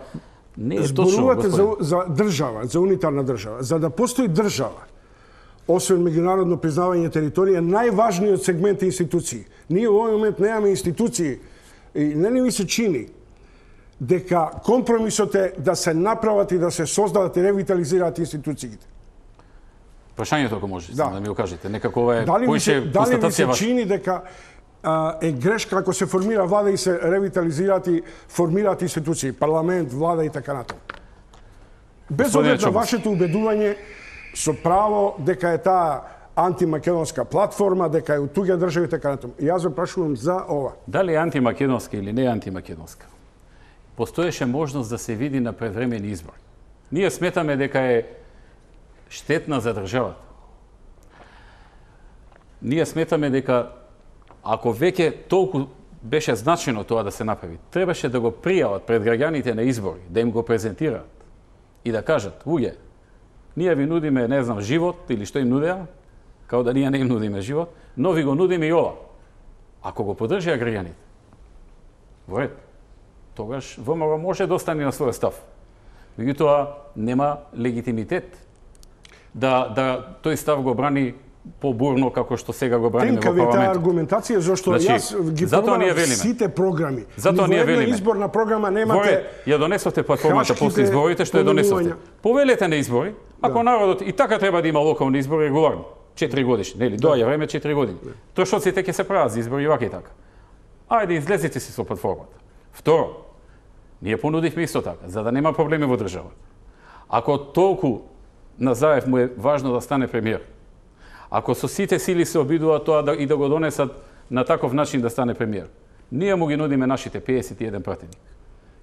Не е точно. Зборувате за држава, за унитарна држава. За да постои држава, освен меѓународно признавање територија, најважниот сегмент е институции. Ние во овој момент немаме институции и не ми се чини дека компромисот е да се направат и да се создадат и ревитализираат институциите. Прашањето ако може, да ми го кажете, некако ова е поише констатација ваша. Дали ми се чини дека е грешка ако се формира влада и се ревитализираат и формираат институции, парламент, влада и така натаму. Без оглед на вашето убедување со право дека е таа антимакедонска платформа, дека е од туѓа држава и така натаму. Јас ве прашувам за ова. Дали е антимакедонска или не е антимакедонска? Постоеше можност да се види на предвремени избори. Ние сметаме дека е штетна за државата. Ние сметаме дека ако веќе толку беше значено тоа да се направи. Требаше да го пријават пред граѓаните на избори, да им го презентираат и да кажат, луѓе, ние ви нудиме, не знам, живот или што им нудеа, као да ние не им нудиме живот, но ви го нудиме и ова. Ако го поддржија граѓаните, во ред, тогаш ВМРО може да остане на својот став. Меѓутоа, нема легитимитет да тој став го брани побурно како што сега го браниме во парламентот. Тенка ви таа аргументација, зашто јас ги пробав сите програми. Затоа ние велиме. Изборна програма немате. Ја донесовте платформата после изборите, што ја донесовте. Повелете на избори, ако народот и така треба да има локални избори регуларно, 4 годишни, нели? Доаѓа време 4 години. Трошоците ќе се прават за избори и вака и така. Ајде излезете си со платформата. Второ, ние понудивме исто така, за да нема проблеми во државата. Ако толку на Заев му е важно да стане премиер, ако со сите сили се обидуваат тоа и да го донесат на таков начин да стане премиер, ние му ги нудиме нашите 51 пратеник.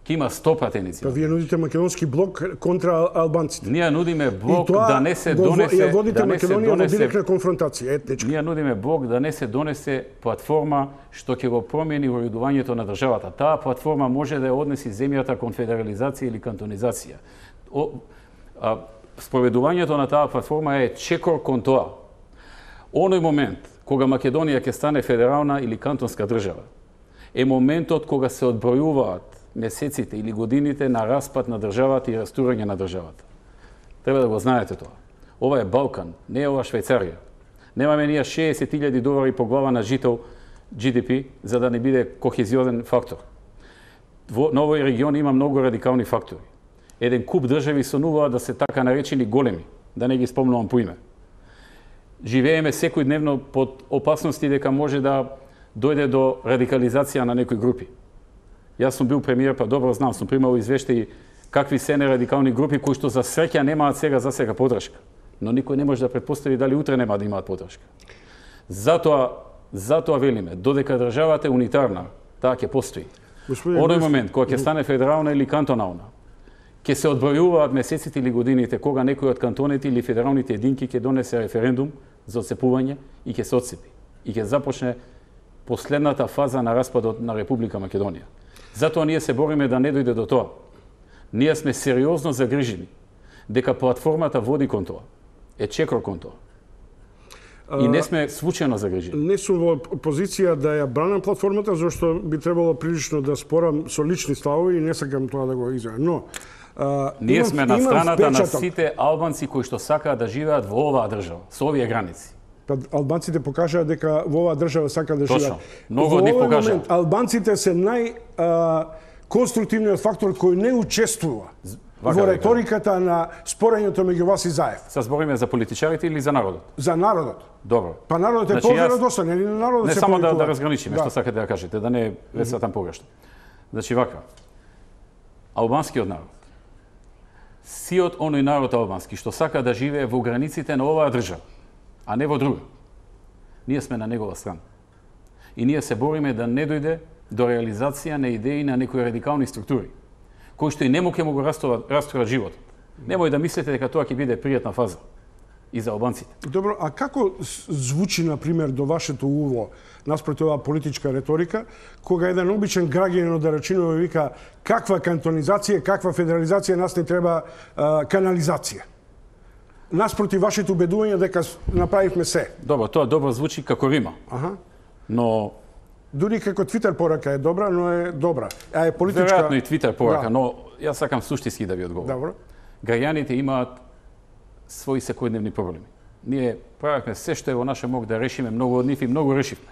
Ки има 100 пратеници. Па вие нудите македонски блок контра албанците. Ние нудиме блок да не се донесе... Ја водите Македонија во директна конфронтација, етничка. Ние нудиме блок да не се донесе платформа што ќе го промени уредувањето на државата. Таа платформа може да ја однеси земјата кон федерализација или кантонизација. Спроведувањето на таа платформа е чекор кон тоа. Оној момент кога Македонија ќе стане федерална или кантонска држава е моментот кога се одбројуваат месеците или годините на распад на државата и растурање на државата. Треба да го знаете тоа. Ова е Балкан, не е ова Швајцарија. Немаме ние 60.000 долари по глава на жител GDP за да не биде кохезиозен фактор. На овој регион има многу радикални фактори. Еден куп држави сонуваат да се така наречени големи, да не ги спомнувам по име. Живееме секојдневно под опасности дека може да дојде до радикализација на некои групи. Јас сум бил премиер, па добро знам, сум примал извештаи какви се не радикални групи кои што за среќа немаат за сега поддршка. Но никој не може да претпостави дали утре нема да имаат поддршка. Затоа велиме, додека државата е унитарна, таа ќе постои. Оној момент кога ќе стане федерална или кантонална, ќе се одбројуваат месеците или годините кога некој од кантоните или федералните единки ќе донесе референдум за отцепување и ќе се отцепи. И ќе започне последната фаза на распадот на Република Македонија. Затоа ние се бориме да не дојде до тоа. Ние сме сериозно загрижени дека платформата води кон тоа. Е чекор кон тоа. И не сме случајно загрижени. Не сум во позиција да ја бранам платформата, зашто би требало прилично да спорам со лични ставови и не сакам тоа да го изјавам. Но ние сме на страната на сите албанци кои што сакаат да живеат во оваа држава, со овие граници. Албанците покажаа дека во оваа држава сакаат да живеат. Точно. Многу од нив покажаа. Албанците се конструктивниот фактор кој не учествува во реториката на спорењето меѓу вас и Заев. Се збориме за политичарите или за народот? За народот. Добро. Па народот е поверодостан, или народот не се само да разграничиме што сакате да кажете, да не весватам погрешно. Значи вака. Албанскиот народ, сиот оној народ албански што сака да живее во границите на оваа држава, а не во друга. Ние сме на негова страна. И ние се бориме да не дојде до реализација на идеи на некои радикални структури, кои што и нему ќе му го растурат животот. Немој да мислите дека тоа ќе биде пријатна фаза и за албанците. Добро, а како звучи, например, до вашето уво наспроти оваа политичка реторика, кога еден обичен граѓанин од Рачиново вика каква кантонизација, каква федерализација, нас не треба канализација? Наспроти вашето убедување дека направивме се. Добро, тоа добро звучи како рима. Но дури како Твитер порака е добра, но е добра. А е политичка. Веројатно и Твитер порака, но јас сакам суштински да ви одговорам. Добро. Граѓаните имаат своји секојдневни проблеми. Ние правевме се што е во наша мог да решиме, многу од нив и многу решивме.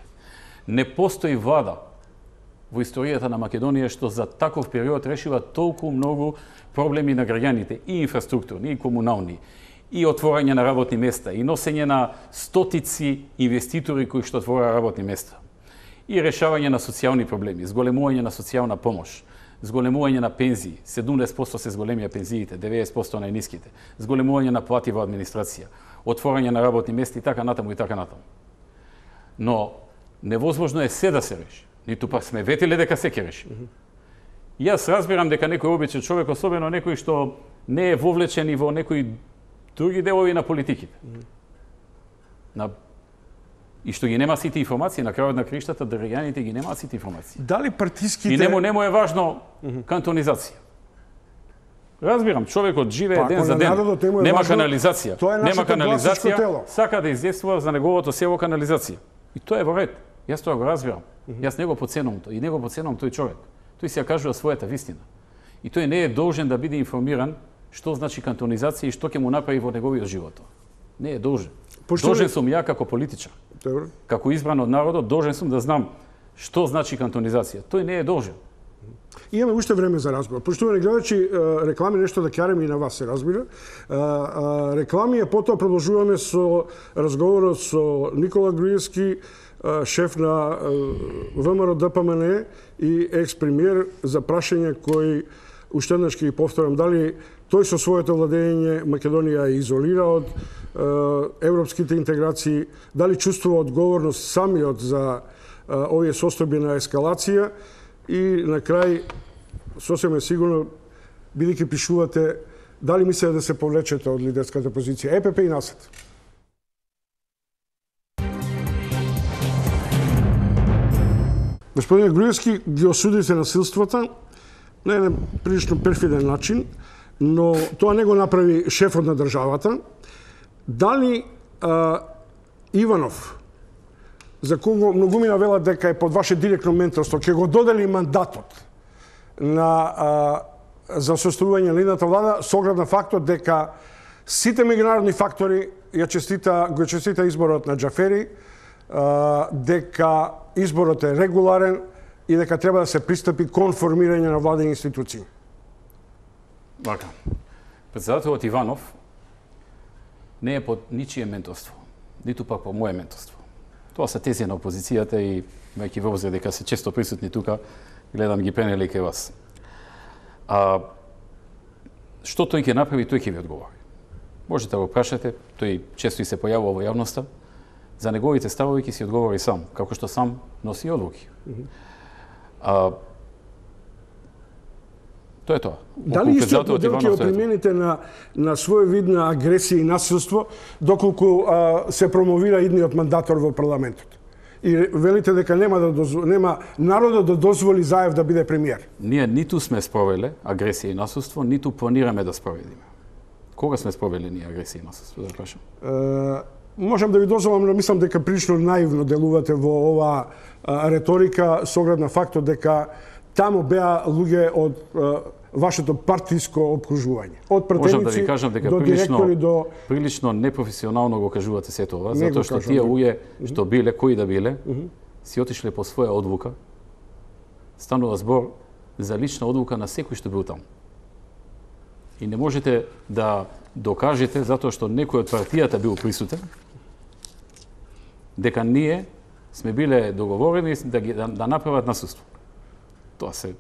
Не постои влада во историјата на Македонија што за таков период решива толку многу проблеми на граѓаните, и инфраструктурни, и комунални, и отворање на работни места, и носење на стотици инвеститори кои што отвораа работни места, и решавање на социјални проблеми, зголемување на социјална помош, зголемување на пензии, 70% се зголемија пензиите, 90% најниските, зголемување на плати во администрација, отворање на работни места и така натаму и така натаму. Но невозможно е се да се реши. Ниту пак сме ветиле дека се ќе реши. Јас разбирам дека некој обичен човек, особено некој што не е вовлечен и во некои други делови на политиките. На и што ги нема сите информации, на крајот на криштата државјаните ги немаат сите информации. Дали партиските... И нему е важно кантонизација. Разбирам, човекот живее ден за ден, нема канализација, нема канализација, сака да издействува за неговото село канализација. И тоа е во ред. Јас тоа го разбирам. Јас не го подценувам тоа. И не го подценувам тој човек. Тој си ја кажува својата вистина. И тој не е должен да биде информиран што значи кантонизација и што ќе му направи во неговиот живот. Не е должен. Должен сум ја како политичар. Како избран од народот, должен сум да знам што значи кантонизација. Тој не е должен. Имаме уште време за разговор. Поштовани гледачи, реклами нешто да ќараме и на вас се разбира. Реклами, а потоа продолжуваме со разговорот со Никола Груевски, шеф на ВМРО ДПМН и екс-премиер, за прашање кои уште еднаш ќе ги повторам, дали тој со своето владење Македонија е изолира од европските интеграции, дали чувствува одговорност самиот за овие состојби на ескалација и на крај, сосема сигурно, бидејќи пишувате, дали мислите да се повлечете од лидерската позиција ЕПП и НАСАД? Господин Груевски, ги осудите насилствата на еден прилично перфиден начин, но тоа не го направи шефот на државата. Дали Иванов, за кого многумина велат дека е под ваше директно менторство, ќе го додели мандатот за составување на идната влада, со оглед на фактот дека сите меѓународни фактори го честита изборот на Џафери, дека изборот е регуларен и дека треба да се пристапи кон формирање на владени институции. Вака. Председателот Иванов не е под ничие менторство, ниту пак по мое менторство. Тоа се тези на опозицијата и имајќи во обзир дека се често присутни тука, гледам ги пенели кај вас. Што тој ќе направи, тој ќе ви одговори. Можете да го прашате, тој често и се појавува во јавноста, за неговите ставови ќе си одговори сам, како што сам носи одлуки. Тоа е тоа. Дали истиот модел ќе го примените на свој вид на агресија и насилство, доколку се промовира идниот мандатор во парламентот? И велите дека нема народот да дозволи Заев да биде премиер? Ние ниту сме спровеле агресија и насилство, ниту планираме да спроведиме. Кога сме спровели ние агресија и насилство, да прашам? Можам да ви дозволам, но мислам дека прилично наивно делувате во оваа реторика, со оглед на фактот дека таму беа луѓе од вашето партиско обкружување. Од пратеници да ви кажам дека до директори до... прилично непрофесионално го кажувате сето ова, затоа што тие луѓе што биле, кои да биле, си отишле по своја одлука. Станува збор за лична одлука на секој што бил таму. И не можете да докажете, затоа што некој од партијата бил присутен, дека ние сме биле договорени да направат насилство. Тоа се...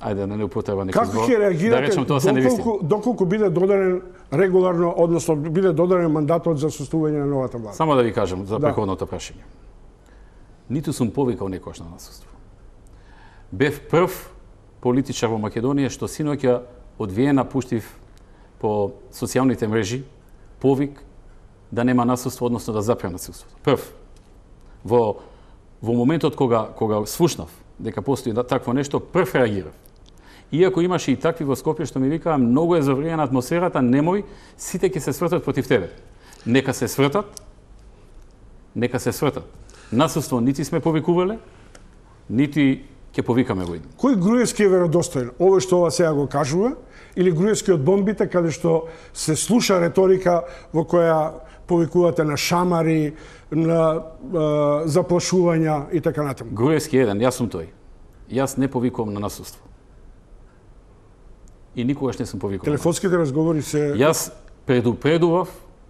Ајде, не употреба некој збор. Како ќе реагирате доколку биде додаден регуларно, односно биде додаден мандатот за составување на новата влада? Само да ви кажам за претходното прашање. Ниту сум повикал некојаш на насилство. Бев прв политичар во Македонија што синоќа од Виена пуштив по социјалните мрежи повик да нема насилство, односно да запре насилството. Прв. Во моментот кога слушнав дека постои такво нешто, прв реагирав. Иако имаше и такви во Скопје што ми викаа многу е завриена атмосферата, немој, сите ќе се свртат против тебе. Нека се свртат. Насилство нити сме повикувале, нити ќе повикаме го идем. Кој Груевски е веродостоен? Ово што ова сега го кажува, или Груевски од бомбите, каде што се слуша реторика во која повикувате на шамари, на заплашувања и така натаму? Груевски е еден, јас сум тој. Јас не повикувам на насилство. И никогаш не сум повикувал. Телефонските разговори се... Јас предупредував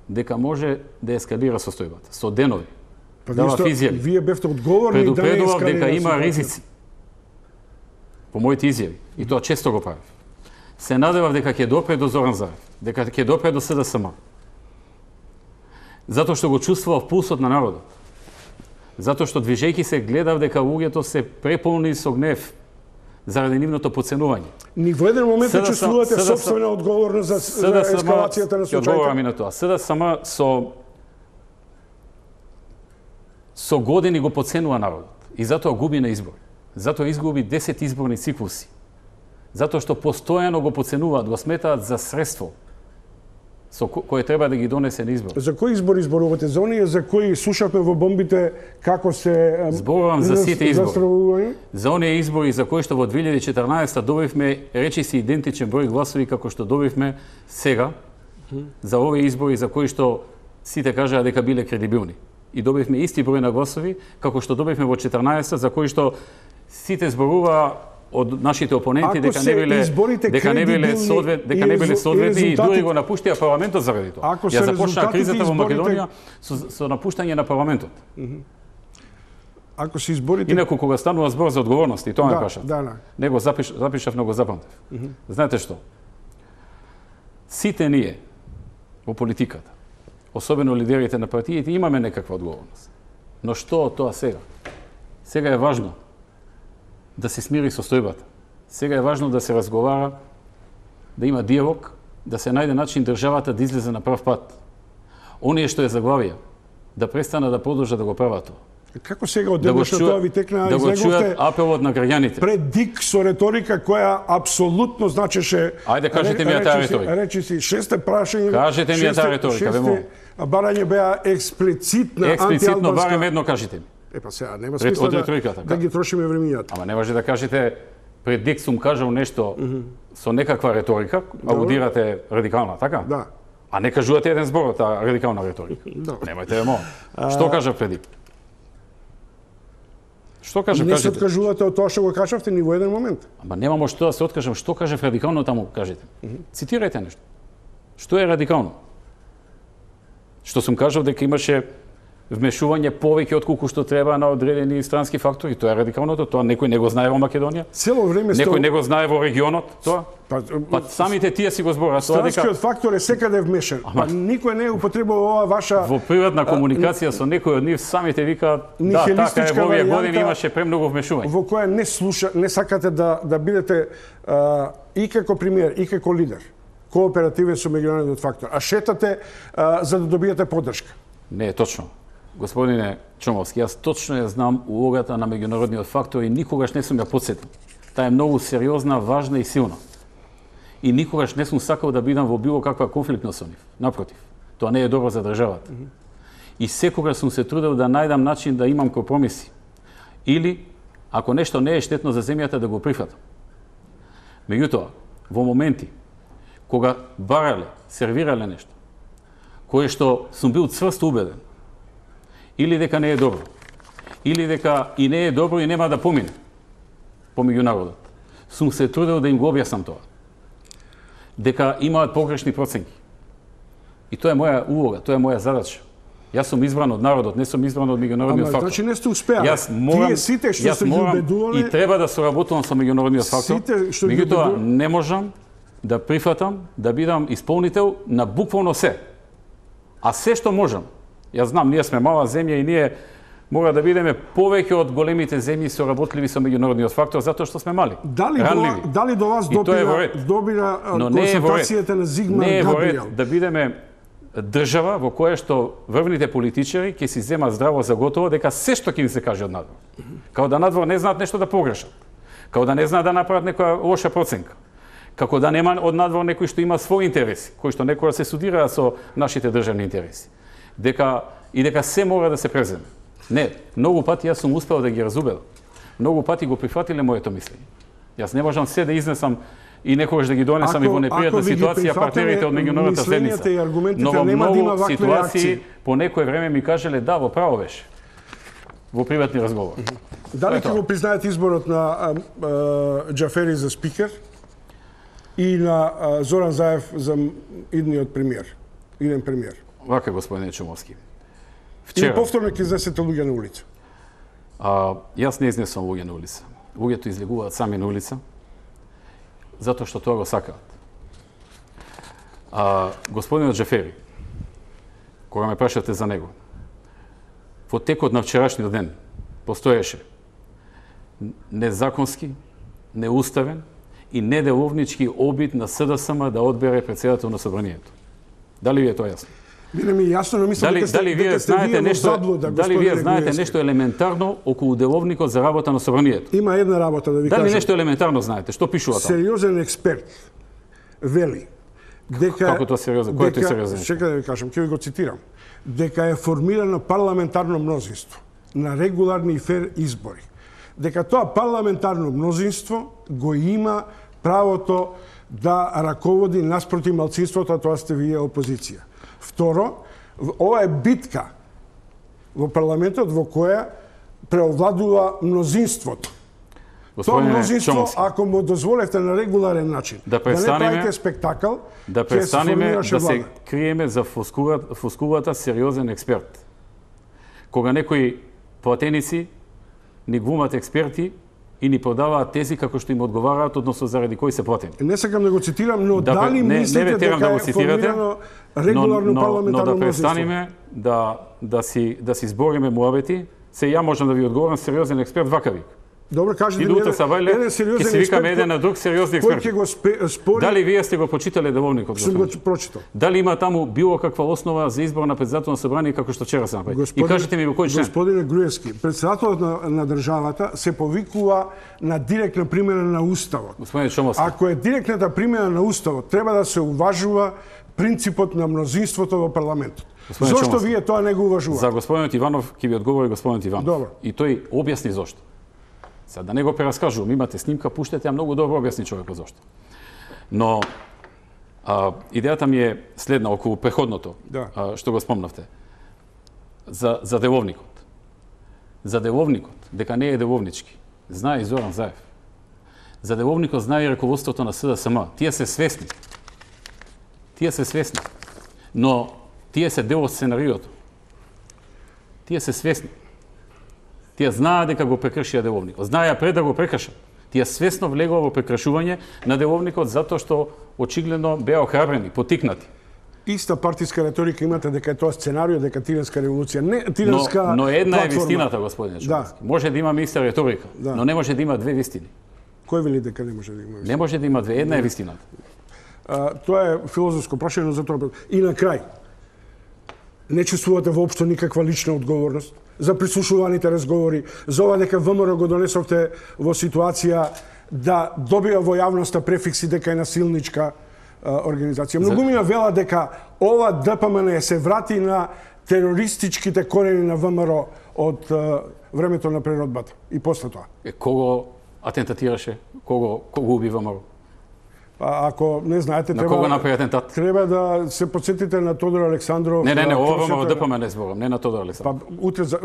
дека може да ескалира состојбата. Со денови. Давав изјави. Вие бевте одговорни да не ескалира. Предупредував дека има ризици. По моите изјави. И тоа често го правив. Се надевав дека ќе допре до Зоран Заев. Дека ќе допре до СДСМ. Затоа што го чувствував пулсот на народот. Затоа што движејќи се гледав дека луѓето се преполни со гнев заради нивното подценување. Ни во еден момент чувствувате собствена одговорност за ескалацијата на случајот. Одговорам и на тоа. СДСМ со со години го подценува народот и затоа губи на избори. Затоа изгуби 10 изборни циклуси. Затоа што постојано го подценуваат, го сметаат за средство кое треба да ги донесе на избор. За кои избори зборувате? За оние за кои слушавме во бомбите како се зборувам за сите избори. За оние избори за кои што во 2014 добивме речиси идентичен број гласови како што добивме сега. За овие избори за кои што сите кажаа дека биле кредибилни. И добивме исти број на гласови како што добивме во 14 за кои што сите зборуваа од нашите опоненти дека не биле соодветни и дури го напуштија парламентот заради тоа. Ја започнаа кризата во Македонија со напуштање на парламентот. Ако се изборите... Инаку кога станува збор за одговорност, и тоа ме кажа. Него запишав, но го запамтев. Знаете што? Сите ние во политиката, особено лидерите на партиите, имаме некаква одговорност. Но што од тоа сега? Сега е важно да се смири состојбата. Сега е важно да се разговара, да има диалог, да се најде начин државата да излезе на прав пат. Оние што е заглавија, да престана да продолжат да го прават тоа. Како сега од денешно тоа ви текна да го чујат апелот на граѓаните. Пред дик со реторика која апсолутно значеше... Ајде кажете ми ја таа реторика. Речи си шесте прашање... Кажете ми ја таа реторика, бе молам. Барање беа експлицитна антиалбанска... Експлицитно барем едно кажете ми. Епа сега, нема смисла да ги трошиме времињата. Ама не може да кажете пред дик сум кажал нешто со некаква реторика, аудирате радикална, така? Да. А не кажувате еден збор од таа радикална реторика. Немајте да молам. Што кажа пред дик? Што кажа? Не се откажувате од тоа што го кажавте ни во еден момент. Ама немамо што да се откажам. Што каже радикално таму, кажете. Цитирајте нешто. Што е радикално? Што сум кажал дека имаше вмешување повеќе отколку што треба на одредени странски фактори, тоа е радикалното, тоа некој не го знае во Македонија. Цело време некој не го знае во регионот, тоа. Па самите тие си го збораат тоа дека странскиот фактор е секаде вмешан. Па никој не употребува ова ваша во приватна комуникација со некој од нив самите викаат да, така е, во овие години имаше премногу вмешување. Во која не сакате да бидете и како премиер, и како лидер кооперативен со меѓународниот фактор, а шетате за да добиете поддршка. Не е точно. Господине Чомовски, јас точно ја знам улогата на меѓународниот фактор и никогаш не сум ја потсетил. Таа е многу сериозна, важна и силна. И никогаш не сум сакал да бидам во било каква конфликтност со нив. Напротив, тоа не е добро за државата. И секогаш сум се трудел да најдам начин да имам компромиси. Или, ако нешто не е штетно за земјата, да го прифатам. Меѓутоа, во моменти кога барале, сервирале нешто, кое што сум бил цврсто убеден, или дека не е добро, или дека и не е добро и нема да помине помеѓу народот. Сум се трудел да им го објаснам тоа. Дека имаат погрешни проценки. И тоа е моја улога, тоа е моја задача. Јас сум избран од народот, не сум избран од меѓународниот фактор. Значи не сте успеали. Тие сите што се убедувале и треба да соработувам со меѓународниот фактор. Меѓутоа не можам да прифатам да бидам исполнител на буквално се. А се што можам, јас знам, ние сме мала земја и ние мора да бидеме повеќе од големите земји соработливи со меѓународниот фактор затоа што сме мали. Дали до вас добира консултацијата на Зигмар Габриел? Не е во ред да бидеме држава во која што врвните политичари ќе си земат здраво за готово дека се што ќе им се каже од надвор. Као да надвор не знаат нешто да погрешат. Као да не знаат да направат некоја лоша проценка. Како да нема од надвор некој што има своји интереси, кои што некоја се судираат со нашите државни интереси. Дека се мора да се преземе. Не, многу пати јас сум успел да ги разубедам. Многу пати го прифатиле моето мислење. Јас не можам се да изнесам и некогаш да ги донесам и во непријатна ситуација партнерите од меѓународната заедница. Но во многу ситуации по некое време ми кажеле да, во право беше. Во приватни разговори. Дали ќе го признаете изборот на Џафери за спикер и на Зоран Заев за идниот премиер, иден премиер? Вака, господине Чумовски. Или повторно ќе изнесете луѓе на улица? Јас не изнесувам луѓе на улица. Луѓето излегуваат сами на улица, затоа што тоа го сакаат. Господинот Џафери, кога ме прашате за него, во текот на вчерашниот ден постоеше незаконски, неуставен и неделовнички обид на СДСМ да одбере претседател на собранието. Дали ви е тоа јасно? Не ми е јасно, но мислам дека сте вие во заблуда, дали вие знаете нешто елементарно околу деловникот за работа на собранието? Има една работа да ви кажам. Дали нешто елементарно знаете? Што пишува таму? Сериозен експерт вели дека како тоа сериозен? Кој е тој сериозен? Чекај да ви кажам, ќе ви го цитирам. Дека е формирано парламентарно мнозинство на регуларни и фер избори. Дека тоа парламентарно мнозинство го има правото да раководи наспроти малцинството, а тоа сте вие опозиција. Второ, ова е битка во парламентот во која преовладува мнозинството. Тоа мнозинство, ако му дозволевте на регуларен начин, да не правите спектакл, да престанеме да се криеме за флоскулата сериозен експерт. Кога некои платеници ни глумат експерти и ни продаваат тези како што им одговараат, односно заради кои се платени. Не сакам да го цитирам, но дали мислите дека е формирано регуларно парламентарно мнозинство? Но да престанеме да си збориме муабети, се ја можам да ви одговорам сериозен експерт вака вик. Добро, кажете ми еден сериозен експерт. Ќе си викаме еден на друг сериозни експерти. Кој ќе го спори? Дали вие сте го прочитале деловникот? Сум го прочитал. Дали има таму било каква основа за избор на председател на собрание како што вчера се направи? И кажете ми во кој член? Господине Груевски, председателот на државата се повикува на директна примена на уставот. Господине Чомовски. Ако е директната примена на уставот, треба да се уважува принципот на мнозинството во парламентот. Зошто вие тоа не го уважувате? За господинот Иванов ќе ви одговори господинот Иванов. Добро. И тој објасни зошто. Сега да не го прераскажувам, имате снимка, пуштете ја многу добро објасни човекот зошто. Но идејата ми е следна околу преходното, што го спомнавте. За деловникот. За деловникот, дека не е деловнички, знае и Зоран Заев. За деловникот знае и раководството на СДСМ. Тие се свесни. Но тие се дел од сценариото. Тие се свесни. Тие знаат дека го прекршија деловникот. Знаеа пред да го прекршат. Тие свесно влегува во прекршување на деловникот затоа што очигледно беа охрабрени, потикнати. Иста партиска реторика имате дека е тоа сценарио, дека Тиренска револуција, не Тиренска но една платформа. Е вистината, господине Чомовски. Може да имаме иста реторика, но не може да има две вистини. Кој вели дека не може да има вистина? Не може да има две, една е вистината. Тоа е филозофско прашање, за тоа. И на крај, не чувствувате воопшто никаква лична одговорност за прислушуваните разговори, за ова дека ВМРО го донесовте во ситуација да добива во јавноста префикси дека е насилничка организација. Многумина вела дека ова ДПМН се врати на терористичките корени на ВМРО од времето на преродбата и после тоа. Кого атентатираше? Кого уби ВМРО? Ако не знаете, на кого направи атентат? Треба да се подсетите на Тодор Александров. Не, ова ВМРО ДПМН зборам, не на Тодор Александров.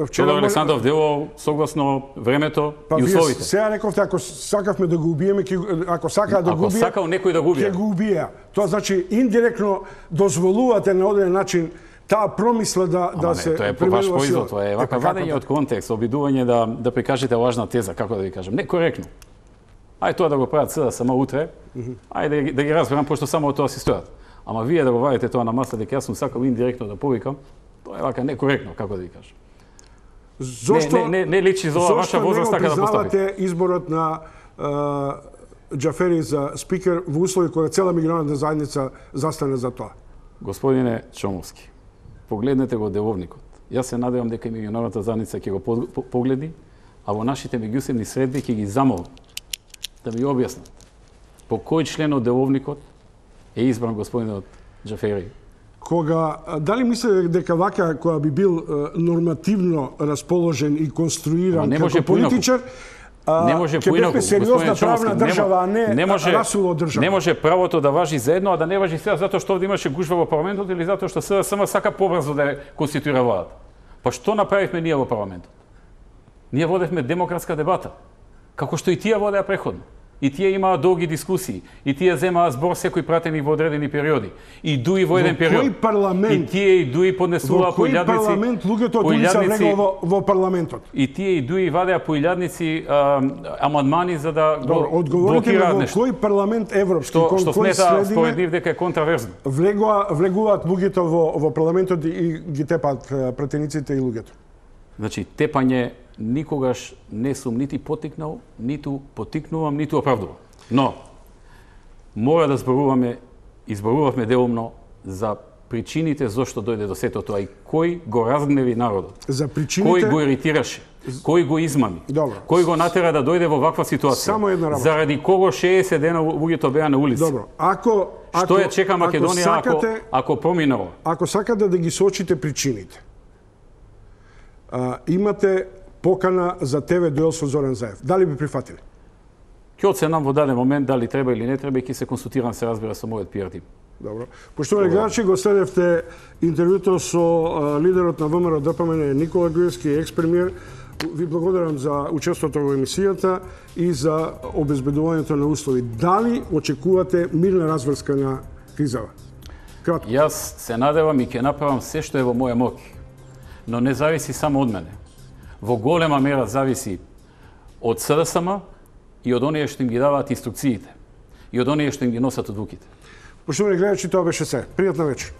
Вчера Тодор Александров дело согласно времето и условите. Сега рековте, ако сакавме да го убиеме, ако сакаа да го убие, ако сакал некој да го убие, ќе го убија. Тоа значи индиректно дозволувате на одреден начин таа промисла да се тоа е по ваш производ, тоа е вака вадење од контекст, обидување да прикажете лажна теза, како да ви кажам, некоректно. Ајде тоа да го прават сега само утре, ајде да ги разберам, пошто само од тоа си стојат. Ама вие да го вадите тоа на маса, дека јас сум сакал индиректно да повикам, тоа е вака некоректно, како да ви кажам. Зошто не личи за ова ваша возраст така да постапите? Зошто не го признавате изборот на Џафери за спикер во услови кога цела меѓународна заедница застане за тоа? Господине Чомовски, погледнете го деловникот. Јас се надевам дека и меѓународната заедница ќе го погледи, а во нашите меѓусебни средби ќе ги замолам да ми објаснат по кој член од деловникот е избран господинот Џафери. Дали мислите дека вака која би бил нормативно расположен и конструиран како политичар, ќе бевме сериозна правна држава, а не расуло држава? Не може правото да важи за едно, а да не важи сега затоа што овде имаше гужва во парламентот или затоа што СДСМ сака побрзо да конституира владата. Па што направивме ние во парламентот? Ние водевме демократска дебата, како што и тие водеа преходно. И тие имаа долги дискусии, и тие земаа збор секој пратеник во одредени периоди. И дуи во еден период. Во кој парламент? И тие и дуи поднесуваа по илјадници. Во кој парламент луѓето од улица влегува во парламентот? И тие и дуи вадеа по илјадници амандмани за да го блокираат нешто. Во кој парламент европски, што смета според нив дека е контраверзно? Влегуваат луѓето во парламентот и ги тепаат пратениците и луѓето. Значи, тепање никогаш не сум нити потикнал, ниту потикнувам, ниту оправдувам. Но, мора да изборувавме делумно за причините зошто дојде до сето тоа и кој го разгневи народот. За причините... Кој го иритираше, кој го измами, Добро. кој го натера да дојде во ваква ситуација. Само една работа. Заради кого 60 дена луѓето беа на улица. Добро. Што ја чека Македонија ако промине ова? Ако сакате да ги сочите причините, имате покана за ТВ дуел со Зоран Заев. Дали би прифатили? Ќе оценам во даден момент дали треба или не треба и ќе се консултирам, се разбира, со мојот пиар тим. Добро. Поштовани гледачи, го следевте интервјуто со лидерот на ВМРО ДПМН Никола Груевски, екс-премиер. Ви благодарам за учеството во емисијата и за обезбедувањето на услови. Дали очекувате мирна разврска на кризава? Кратко. Јас се надевам и ќе направам се што е во моја моќ, но не зависи само од мене. Во голема мера зависи од СДСМ и од оние што им ги даваат инструкциите и од оние што им ги носат одлуките. Поштовани гледачи, тоа беше се. Пријатна вечер.